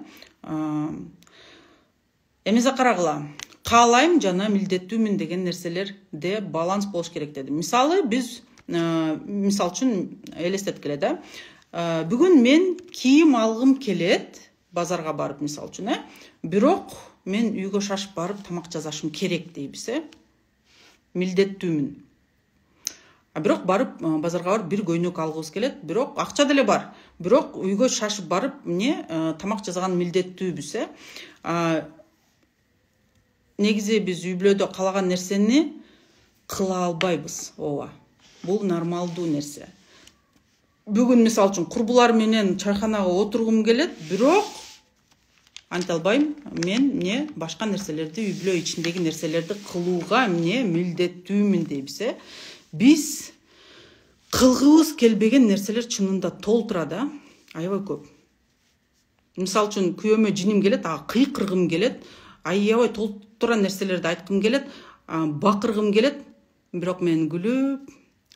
Эмесе карагыла. Каалайм жана милдеттүүмүн деген нерселерде баланс болуш керек дедим. Мисалы, биз мисал үчүн элестеткиле да. Бүгүн мен кийим алгым келет, базарга барып, мисал үчүн, э? Бирок мен үйгө шашып барып тамак жасашым керек дейбиз, э? Милдеттүүмүн. А бирок барып базарга барып бир көйнөк алгыбыз келет, бирок акча деле бар. Бирок үйгө шашып барып эмне тамак жасаган милдеттүүбүз, э? Негизи биз үй бүлөдө каалаган нерсени кыла албайбыз, ооба. Бул нормалдуу нерсе. Бүгүн мисал үчүн курбулар менен чайханага отургум келет, бирок анте албайм. Мен эмне башка нерселерди, үй бүлө ичиндеги нерселерди кылууга эмне милдеттүүмүн дейбиз, э? Биз кылгыбыз келбеген нерселер чынында толтура да, аябай көп. Мисал үчүн күйөөмө жиним келет, ага кыйкыргым келет, аябай толтура нерселерди айткым келет, бакыргым келет, бирок мен күлүп,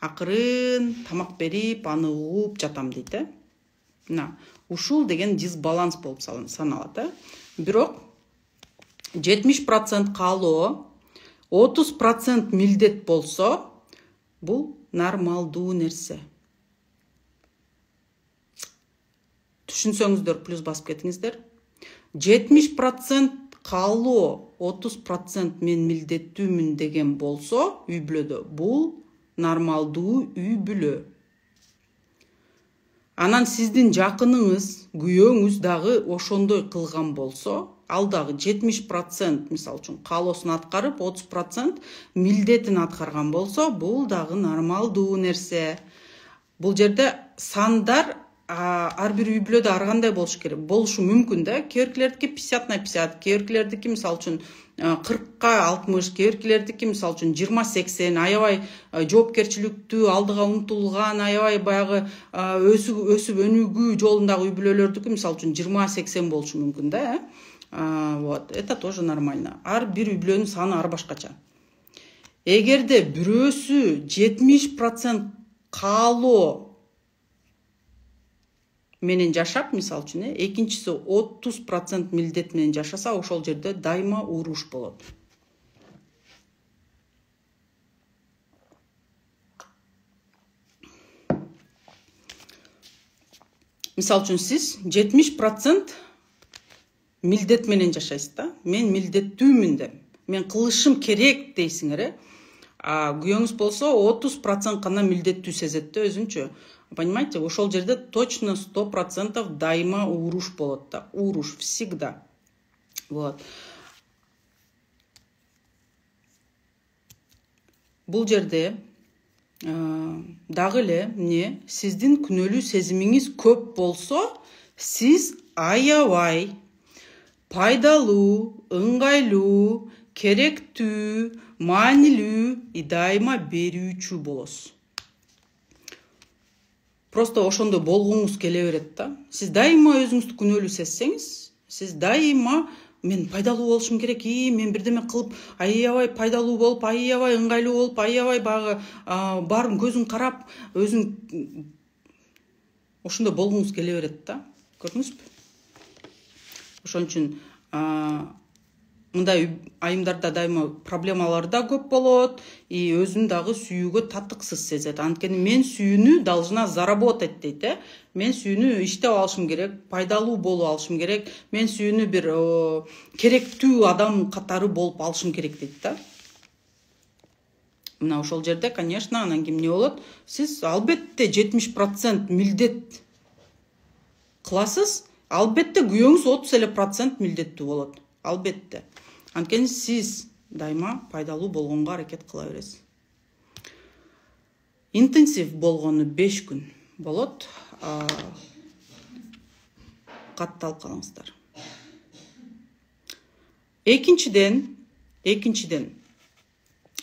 акырын тамак берип, аны угуп жатам дейт, э? Мына, ушул деген дисбаланс болуп саналат, э? Бирок жетимиш процент каалоо, отуз процент милдет болсо, бул нормалдуу нерсе. Түшүнсөңүздөр, плюс басып кетиңиздер. жетимиш процент каалоо, отуз процент мен милдеттүүмүн деген болсо, үй бүлөдө бул нормалдуу үй бүлө. Анан сиздин жакыныңыз, күйөөңүз дагы ошондой кылган болсо, ал дагы жетимиш процент мисал үчүн каалоосун аткарып, отуз процент милдетин аткарган болсо, бул дагы нормалдуу нерсе. Бул жерде сандар ар бир үй бүлөдө ар кандай болуш керек, болушу мүмкүн да. Кээ-биркилердики пятьдесят на пятьдесят, кээ-биркилердики мисал үчүн кыркка алтымыш, кээ-биркилердики мисал үчүн жыйырма сексен, аябай жоопкерчиликтүү, алдыга умтулган, аябай баягы өсүп өнүгүү жолундагы үй бүлөлөрдүкү мисал үчүн жыйырма сексен болушу мүмкүн да, э? Вот, это тоже нормально. Ар бир үй бүлөнүн саны ар башкача. эгерде бирөөсү жетимиш процент каалоо менен жашап, мисалы үчүн, экинчиси отуз процент милдет менен жашаса, ошол жерде дайыма уруш болот. Мисалы үчүн, сиз жетимиш процент милдет менен жашайсыз да. Мен милдеттүүмүн деп, мен кылышым керек дейсиңер, э? А күйөөңүз болсо отуз процент гана милдеттүү сезет да өзүнчө. Понимаете, ошол жерде точно сто процентов дайыма уруш болот да. Уруш всегда. Вот. Бул жерде дагы эле эмне, сиздин күнөөлүү сезимиңиз көп болсо, сиз аябай пайдалуу, ыңгайлуу, керектүү, маанилүү и дайыма берүүчү болосуз. Просто ошондой болгоңуз келе берет да. Сиз дайыма өзүңүздү күнөөлүү сезсеңиз, сиз дайыма мен пайдалуу болушум керек, и мен бирдеме кылып, аябай пайдалуу болуп, аябай ыңгайлуу болуп, аябай багы баарын көзүң карап, өзүң ошондой болгоңуз келе берет да. Көрдүңүзбү? Ошон үчүн мындай айымдарда дайыма проблемалар да көп болот, и өзүн дагы сүйүүгө татыксыз сезет. Анткени мен сүйүүнү должна заработать дейт, э? Мен сүйүүнү иштеп алышым керек, пайдалуу болуп алышым керек, мен сүйүүнү бир керектүү адам катары болуп алышым керек дейт да. Мына ошол жерде, конечно, анан кийин эмне болот? Сиз албетте жетимиш процент милдет кыласыз, албетте күйөөңүз отуз эле процент милдеттүү болот. Албетте. Анткени сиз дайыма пайдалуу болгонго аракет кыла бересиз. Интенсив болгону беш күн болот. Катталып калыңыздар. Экинчиден, экинчиден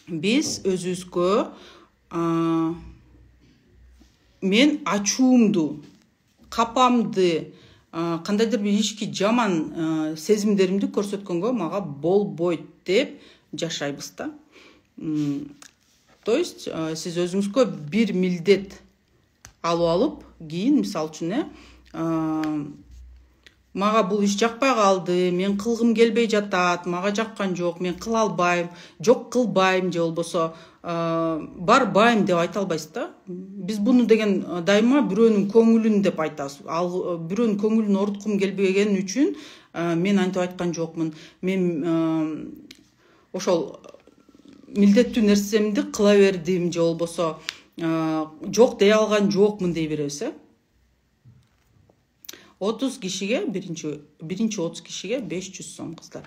биз өзүбүзгө мен ачуумду, капамды, кандайдыр бир ички жаман сезимдеримди көрсөткөнгө мага болбойт деп жашайбыз да. То есть сиз өзүңүзгө бир милдет алып алып, кийин мисалы үчүн, мага бул иш жакпай калды, мен кылгым келбей жатат, мага жаккан жок, мен кыла албайм, жок кылбайм же болбосо барбайм деп айта албайсыз да. Биз буну деген дайыма бирөөнүн көңүлүн деп айтабыз. Ал бирөөнүн көңүлүн оруткум келбеген үчүн мен антип айткан жокмун. Мен ошол милдеттүү нерсемди кыла бердим же болбосо жок дей алган жокмун дей беребиз, э? отуз кишиге, биринчи биринчи отуз кишиге беш жүз сом кыздар.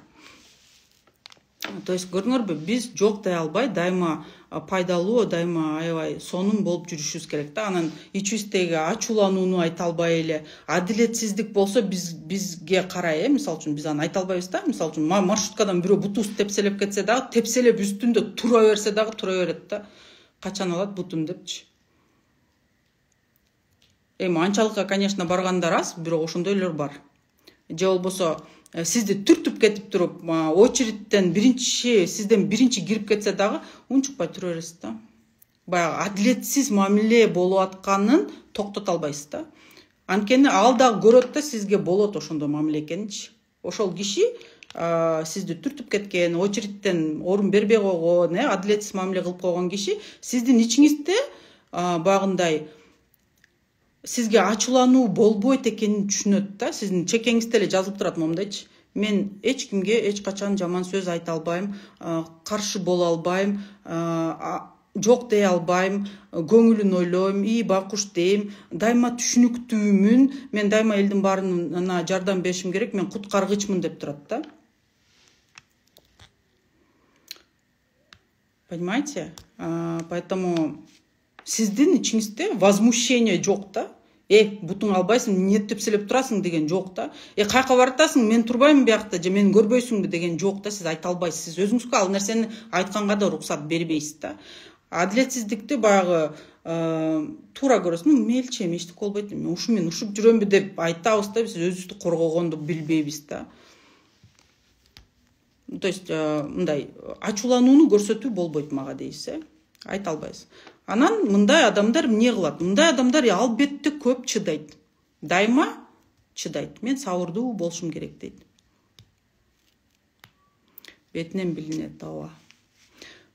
То есть көрдүңөрбү, биз жок дей албай, дайыма пайдалуу, дайыма аябай сонун болуп жүрүшүбүз керек да. Анан ичибиздеги ачууланууну айта албай эле, адилетсиздик болсо биз бизге карай, э, мисалы үчүн биз аны айта албайбыз да. Мисалы үчүн маршруткадан бирөө бутубузду тепселеп кетсе дагы, тепселеп үстүндө тура берсе дагы тура берет да. Качан алат бутум депчи. Эми анчалыкка, конечно, баргандар аз, бирок ошондойлор бар. Же болбосо сизди түртүп кетип туруп, очередтен биринчи, сизден биринчи кирип кетсе дагы унчукпай тура бересиз да. Баягы адилетсиз мамиле болуп атканын токтото албайсыз да. Анткени ал дагы көрөт да, сизге болот ошондой мамиле экенинчи. Ошол киши сизди түртүп кеткен, очередтен орун бербей койгон, адилетсиз мамиле кылып койгон киши сиздин ичиңизде багындай сизге ачуулануу болбойт экенин түшүнөт да. Сиздин чекеңизде эле жазылып турат момундайчы. Мен эч кимге эч качан жаман сөз айта албайм, каршы боло албайм, жок дей албайм, көңүлүн ойлойм, и бакуш дейм, дайыма түшүнүктүүмүн, мен дайыма элдин баарына жардам беришим керек, мен куткаргычмын деп турат да. Понимаете? Поэтому сиздин ичиңизде возмущение жок да. Э, бутуң албайсың, эмне тепселеп турасың деген жок да. Э, кайка баратасың, мен турбаймын биякта же мени көрбөйсүңбү деген жок да. Сиз айта албайсыз. Сиз өзүңүзгө ал нерсени айтканга да уруксат бербейсиз да. Адилетсиздикти баягы туура көрөсүз. Мелчи эми эчтеке болбойт, мен ушумен ушуп жүрөмбү деп айтабыз да, биз өзүбүздү коргогонду билбейбиз да. то есть мындай ачууланууну көрсөтүү болбойт мага дейсиз, э айта албайсыз. Анан мындай адамдар эмне кылат? Мындай адамдар албетте көп чыдайт. Дайыма чыдайт. Мен сабырдуу болушум керек дейт. Бетинен билинет ооба.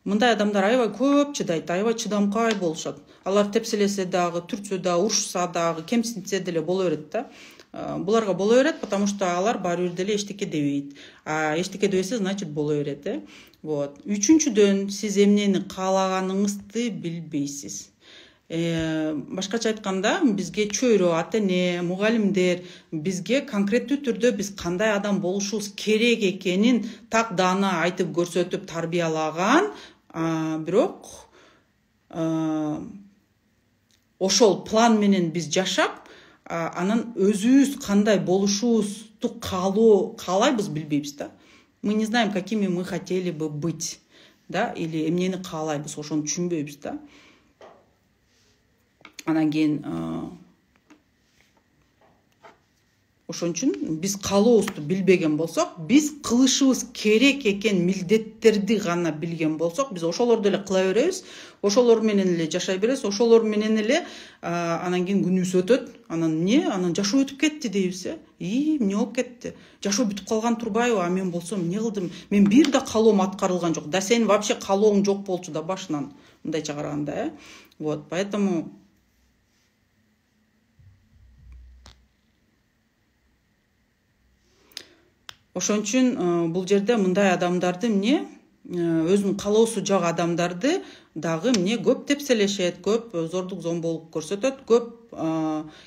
Мындай адамдар аябай көп чыдайт, аябай чыдамкай болушат. Алар тепселесе дагы, түртсө дагы, урушса дагы, кемсинтсе деле боло берет да. Буларга боло берет, потому что алар баары бир деле эчтеке дебейт. А эчтеке дебесе, значит боло берет, э. Вот. Үчүнчүдөн, сиз эмнени каалаганыңызды билбейсиз. Э, башкача айтканда, бизге чөйрө, ата-эне, мугалимдер бизге конкреттүү түрдө биз кандай адам болушубуз керек экенин так даана айтып көрсөтүп тарбиялаган, бирок ошол план менен биз жашап, анан өзүбүз кандай болушубузду каалоо каалайбыз билбейбиз да. Мы не знаем, какими мы хотели бы быть, да, или эмнени каалайбыз, ошону түшүнбөйбүз да. Анан кийин ошон үчүн биз каалообузду билбеген болсок, биз кылышыбыз керек экен милдеттерди гана билген болсок, биз ошолорду эле кыла беребиз, ошолор менен эле жашай беребиз, ошолор менен эле анан кийин күнүбүз өтөт. Анан эмне? Анан жашоо өтүп кетти дейбиз, э? И, эмне болуп кетти? Жашоо бүтүп калган турбайбы? А мен болсом эмне кылдым? Мен бир да каалоом аткарылган жок. Да сенин вообще каалооң жок болчу да башынан, мындайча караганда, э? Вот, поэтому ошон үчүн бул жерде мындай адамдарды эмне өзүнүн каалоосу жок адамдарды дагы эмне көп тепселешет, көп зордук зомболук көрсөтөт, көп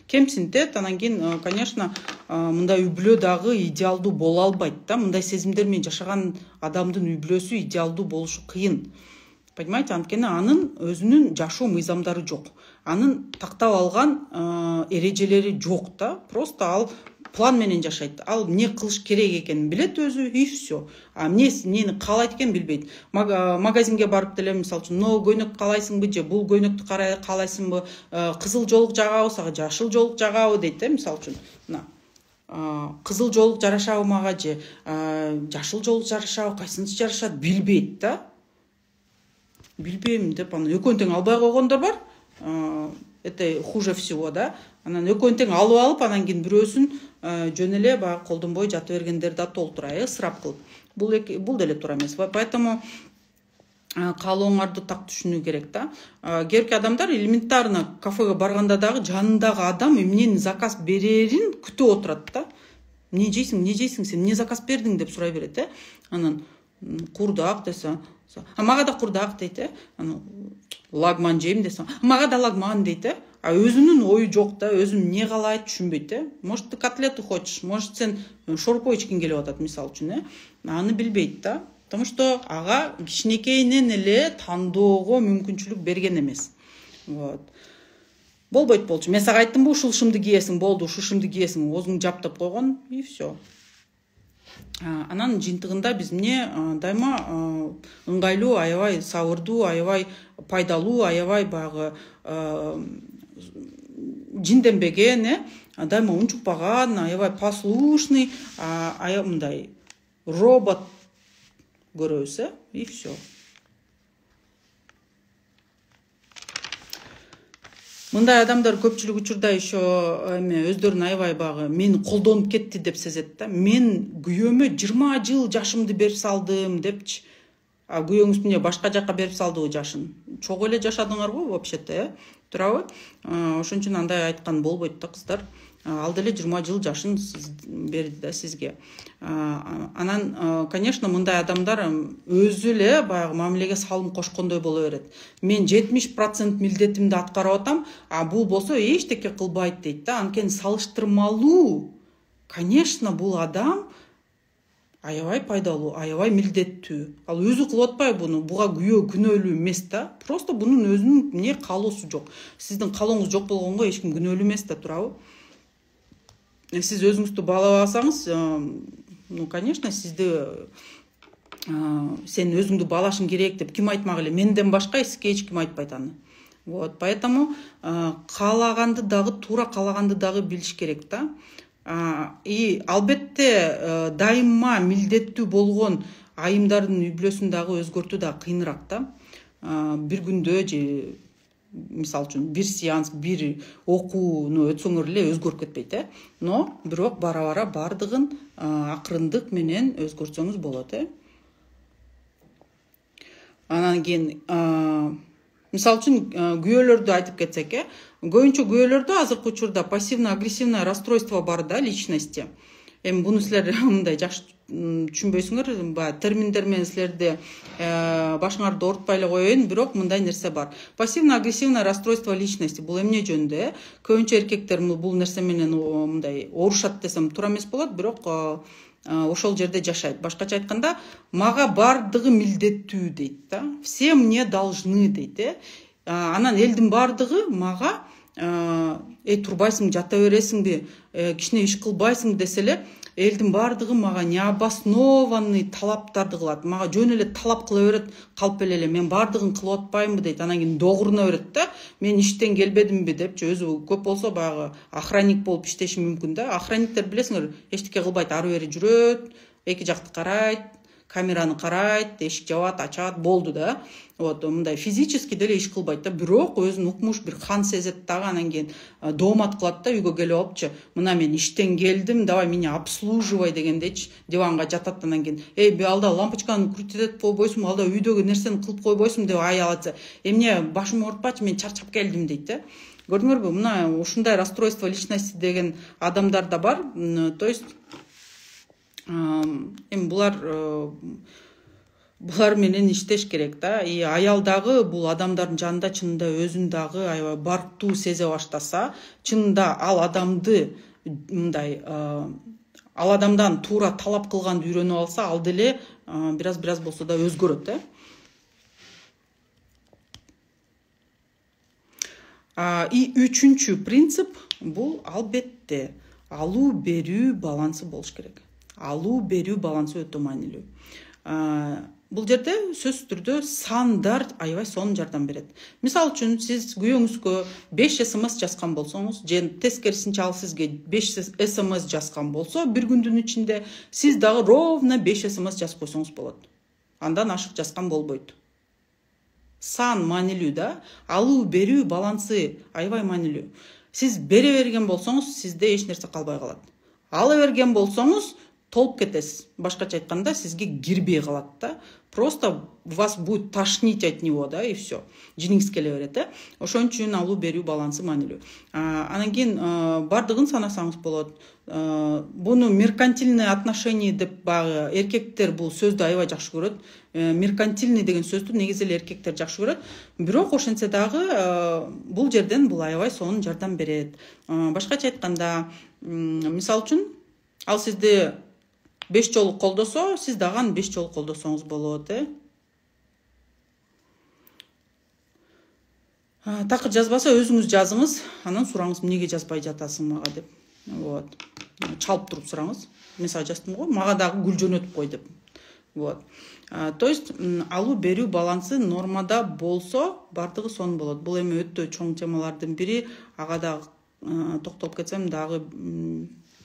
кемсинтет. Анан кийин, конечно, мындай үй бүлө дагы идеалдуу боло албайт да. Мындай сезимдер менен жашаган адамдын үй бүлөсү идеалдуу болушу кыйын. Понимаете, анткени анын өзүнүн жашоо мыйзамдары жок. Анын тактап алган эрежелери жок да. Просто ал план менен жашайт. Ал эмне кылыш керек экенин билет өзү, и все. А эмне эмнени каалайт экенин билбейт. Магазинге барып деле, мисалы үчүн, но көйнөк каалайсыңбы же бул көйнөктү каалайсыңбы, кызыл жоолук жагабы, сага жашыл жоолук жагабы дейт, э, мисалы үчүн. Мына кызыл жоолук жарашабы мага же жашыл жоолук жарашабы, кайсынысы жарашат билбейт да. Билбейм деп анан экөөнү тең албай койгондор бар. Это хуже всего, да. Анан экөөнү тең алып алып, анан кийин бирөөсүн жөн эле баягы колдонбой жата бергендерди да толтура, э, ысырап кылып. Бул бул деле туура эмес. Поэтому каалооңарды так түшүнүү керек да. Кээбирки адамдар элементарно кафеге барганда дагы жанындагы адам эмнени заказ берерин күтүп отурат да. Эмне жейсиң, эмне жейсиң, сен эмне заказ бердиң деп сурай берет, э. Анан курдак десе, а мага да курдак дейт, э. Анан лагман жейм десе, мага да лагман дейт, э. А өзүнүн ою жок да, өзүн эмне каалайт түшүнбөйт, э. Может, ты котлету хочешь, может, сен шорпо ичкиң келип атат, мисалы үчүн, э. Аны билбейт да. Потому что ага кичинекейинен эле тандоого мүмкүнчүлүк берген эмес. Вот. Болбойт болчу. Мен сага айттымбы, ушул шымды кийесиң, болду, ушул шымды кийесиң, оозуңду жаптап койгон, и все. Анан жыйынтыгында биз эмне дайыма ыңгайлуу, аябай сабырдуу, аябай пайдалуу, аябай баягы жинденбеген, э, дайыма унчукпаган, аябай послушный, аябай мындай робот көрөбүз, э, и все. Мындай адамдар көпчүлүк учурда еще эме өздөрүн аябай багы мени колдонуп кетти деп сезет да. Мен күйөөмө жыйырма жыл жашымды берип салдым депчи. А күйөөңүз эмне башка жака берип салдыбы жашын? Чогуу эле жашадыңарбы вообще-то, э? Туурабы? Ошон үчүн андай айткан болбойт да кыздар. Ал деле жыйырма жыл жашын берди да сизге. Анан, конечно, мындай адамдар өзү эле баягы мамилеге салым кошкондой боло берет. Мен жетимиш процент милдетимди аткарып атам, а бул болсо эчтеке кылбайт дейт да. Анткени салыштырмалуу, конечно, бул адам аябай пайдалуу, аябай милдеттүү. Ал өзү кылып атпайбы буну? Буга күйөө күнөөлүү эмес да. Просто бунун өзүнүн эмне каалоосу жок. Сиздин каалооңуз жок болгонго эч ким күнөөлүү эмес да, туурабы? Сиз өзүңүздү баалабасаңыз, ну, конечно, сизди сен өзүңдү баалашың керек деп ким айтмак эле? Менден башка эчке эч ким айтпайт аны. Вот, поэтому каалаганды дагы, туура каалаганды дагы билиш керек да. И албетте дайыма милдеттүү болгон айымдардын үй бүлөсүн дагы өзгөртүү да кыйыныраак да. Бир күндө же мисалы үчүн бир сеанс, бир окууну өтсөңөр эле өзгөрүп кетпейт, э. Но бирок бара бара бардыгын акырындык менен өзгөртсөңүз болот, э. Анан кийин мисалы үчүн күйөөлөрдү айтып кетсек, э. Көбүнчө күйөөлөрдө азыркы учурда пассивно-агрессивное расстройство бар да личности. Эми буну силер мындай жакшы түшүнбөйсүңөр, баягы терминдер менен силерди башыңарды оорутпай эле коеюн, бирок мындай нерсе бар. Пассивно-агрессивное расстройство личности бул эмне жөнүндө? Көбүнчө эркектер бул нерсе менен мындай оорушат десем туура эмес болот, бирок ошол жерде жашайт. Башкача айтканда, мага бардыгы милдеттүү дейт да. Все мне должны дейт, э. Анан элдин бардыгы мага эй турбайсың, жата бересиңби, кичине иш кылбайсың десе эле, элдин бардыгы мага необоснованный талаптарды кылат. Мага жөн эле талап кыла берет, калп эле мен бардыгын кылып атпаймынбы дейт. Анан кийин догуруна берет да. Мен иштен келбедимби депчи, өзү көп болсо баягы охранник болуп иштеши мүмкүн да. Охранниктер билесиңер, эчтеке кылбайт, ары бери жүрөт, эки жакты карайт, камераны карайт, эшик жабат, ачат, болду да. Вот, мындай физически деле иш кылбайт да, бирок өзүн укмуш бир хан сезет дагы, анан кийин доомат кылат да, үйгө келип алыпчы. Мына мен иштен келдим, давай меня обслуживай дегендейчи, диванга жатат, анан кийин, эй, алда лампочканы крутить этип койбойсуңбу, алда үйдөгү нерсени кылып койбойсуңбу деп аялатса, эмне башымды оорутпачы, мен чарчап келдим дейт да. Көрдүңөрбү, мына ушундай расстройство личности деген адамдар да бар. То есть эми булар булар менен иштеш керек да. И аял дагы бул адамдардын жанында чынында өзүн дагы аябай барктуу сезе баштаса, чынында ал адамды мындай ал адамдан туура талап кылганды үйрөнүп алса, ал деле бир аз бир аз болсо да өзгөрөт, э. И үчүнчү принцип бул албетте алуу берүү балансы болуш керек. Алуу берүү балансы өтө маанилүү. Бул жерде сөзсүз түрдө сандар аябай сонун жардам берет. Мисалы үчүн сиз күйөөңүзгө беш смс жазган болсоңуз, же тескерисинче ал сизге беш смс жазган болсо, бир күндүн ичинде сиз дагы ровно беш смс жазып койсоңуз болот. Андан ашык жазган болбойт. Сан маанилүү да, алуу берүү балансы аябай маанилүү. Сиз бере берген болсоңуз, сизде эч нерсе калбай калат. Ала берген болсоңуз, толуп кетесиз. Башкача айтканда, сизге кирбей калат да. Просто вас будет тошнить от него, да, и все. Жиниңиз келе берет, э. Ошон үчүн алуу берүү балансы маанилүү. Анан кийин бардыгын санасаңыз болот. Буну меркантильное отношение деп багы эркектер бул сөздү аябай жакшы көрөт. Меркантильный деген сөздү негизи эле эркектер жакшы көрөт. Бирок ошентсе дагы бул жерден бул аябай сонун жардам берет. Башкача айтканда, мисалы үчүн, ал сизди беш жолу колдосо, сиз дагы аны беш жолу колдосоңуз болот, э. Такыр жазбаса өзүңүз жазыңыз, анан сураңыз, эмнеге жазбай жатасың мага деп. Вот. Чалып туруп сураңыз. Мен сага жаздым го, мага дагы гүл жөнөтүп кой деп. Вот. То есть алуу берүү балансы нормада болсо, бардыгы сонун болот. Бул эми өтө чоң темалардын бири, ага дагы токтолуп кетсем дагы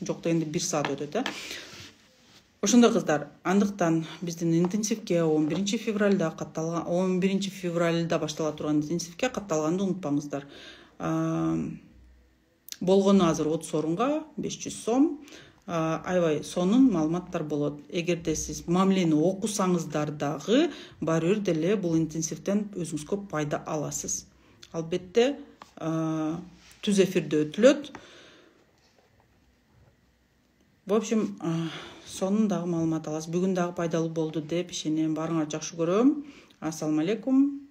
жок дегенде бир саат өтөт, э. Ошондой кыздар, андыктан биздин интенсивке он биринчи февралда катталган, он биринчи февралда баштала турган интенсивке катталганды унутпаңыздар. Болгону азыр отуз орунга беш жүз сом. Аябай сонун маалыматтар болот. Эгерде сиз мамлени окусаңыздар дагы, баары бир деле бул интенсивден өзүңүзгө пайда аласыз. Албетте, түз эфирде өтүлөт. В общем, сонун дагы маалымат аласыз. Бүгүн дагы пайдалуу болду деп ишенем. Баарыңарды жакшы көрөм. Ассаламу алейкум.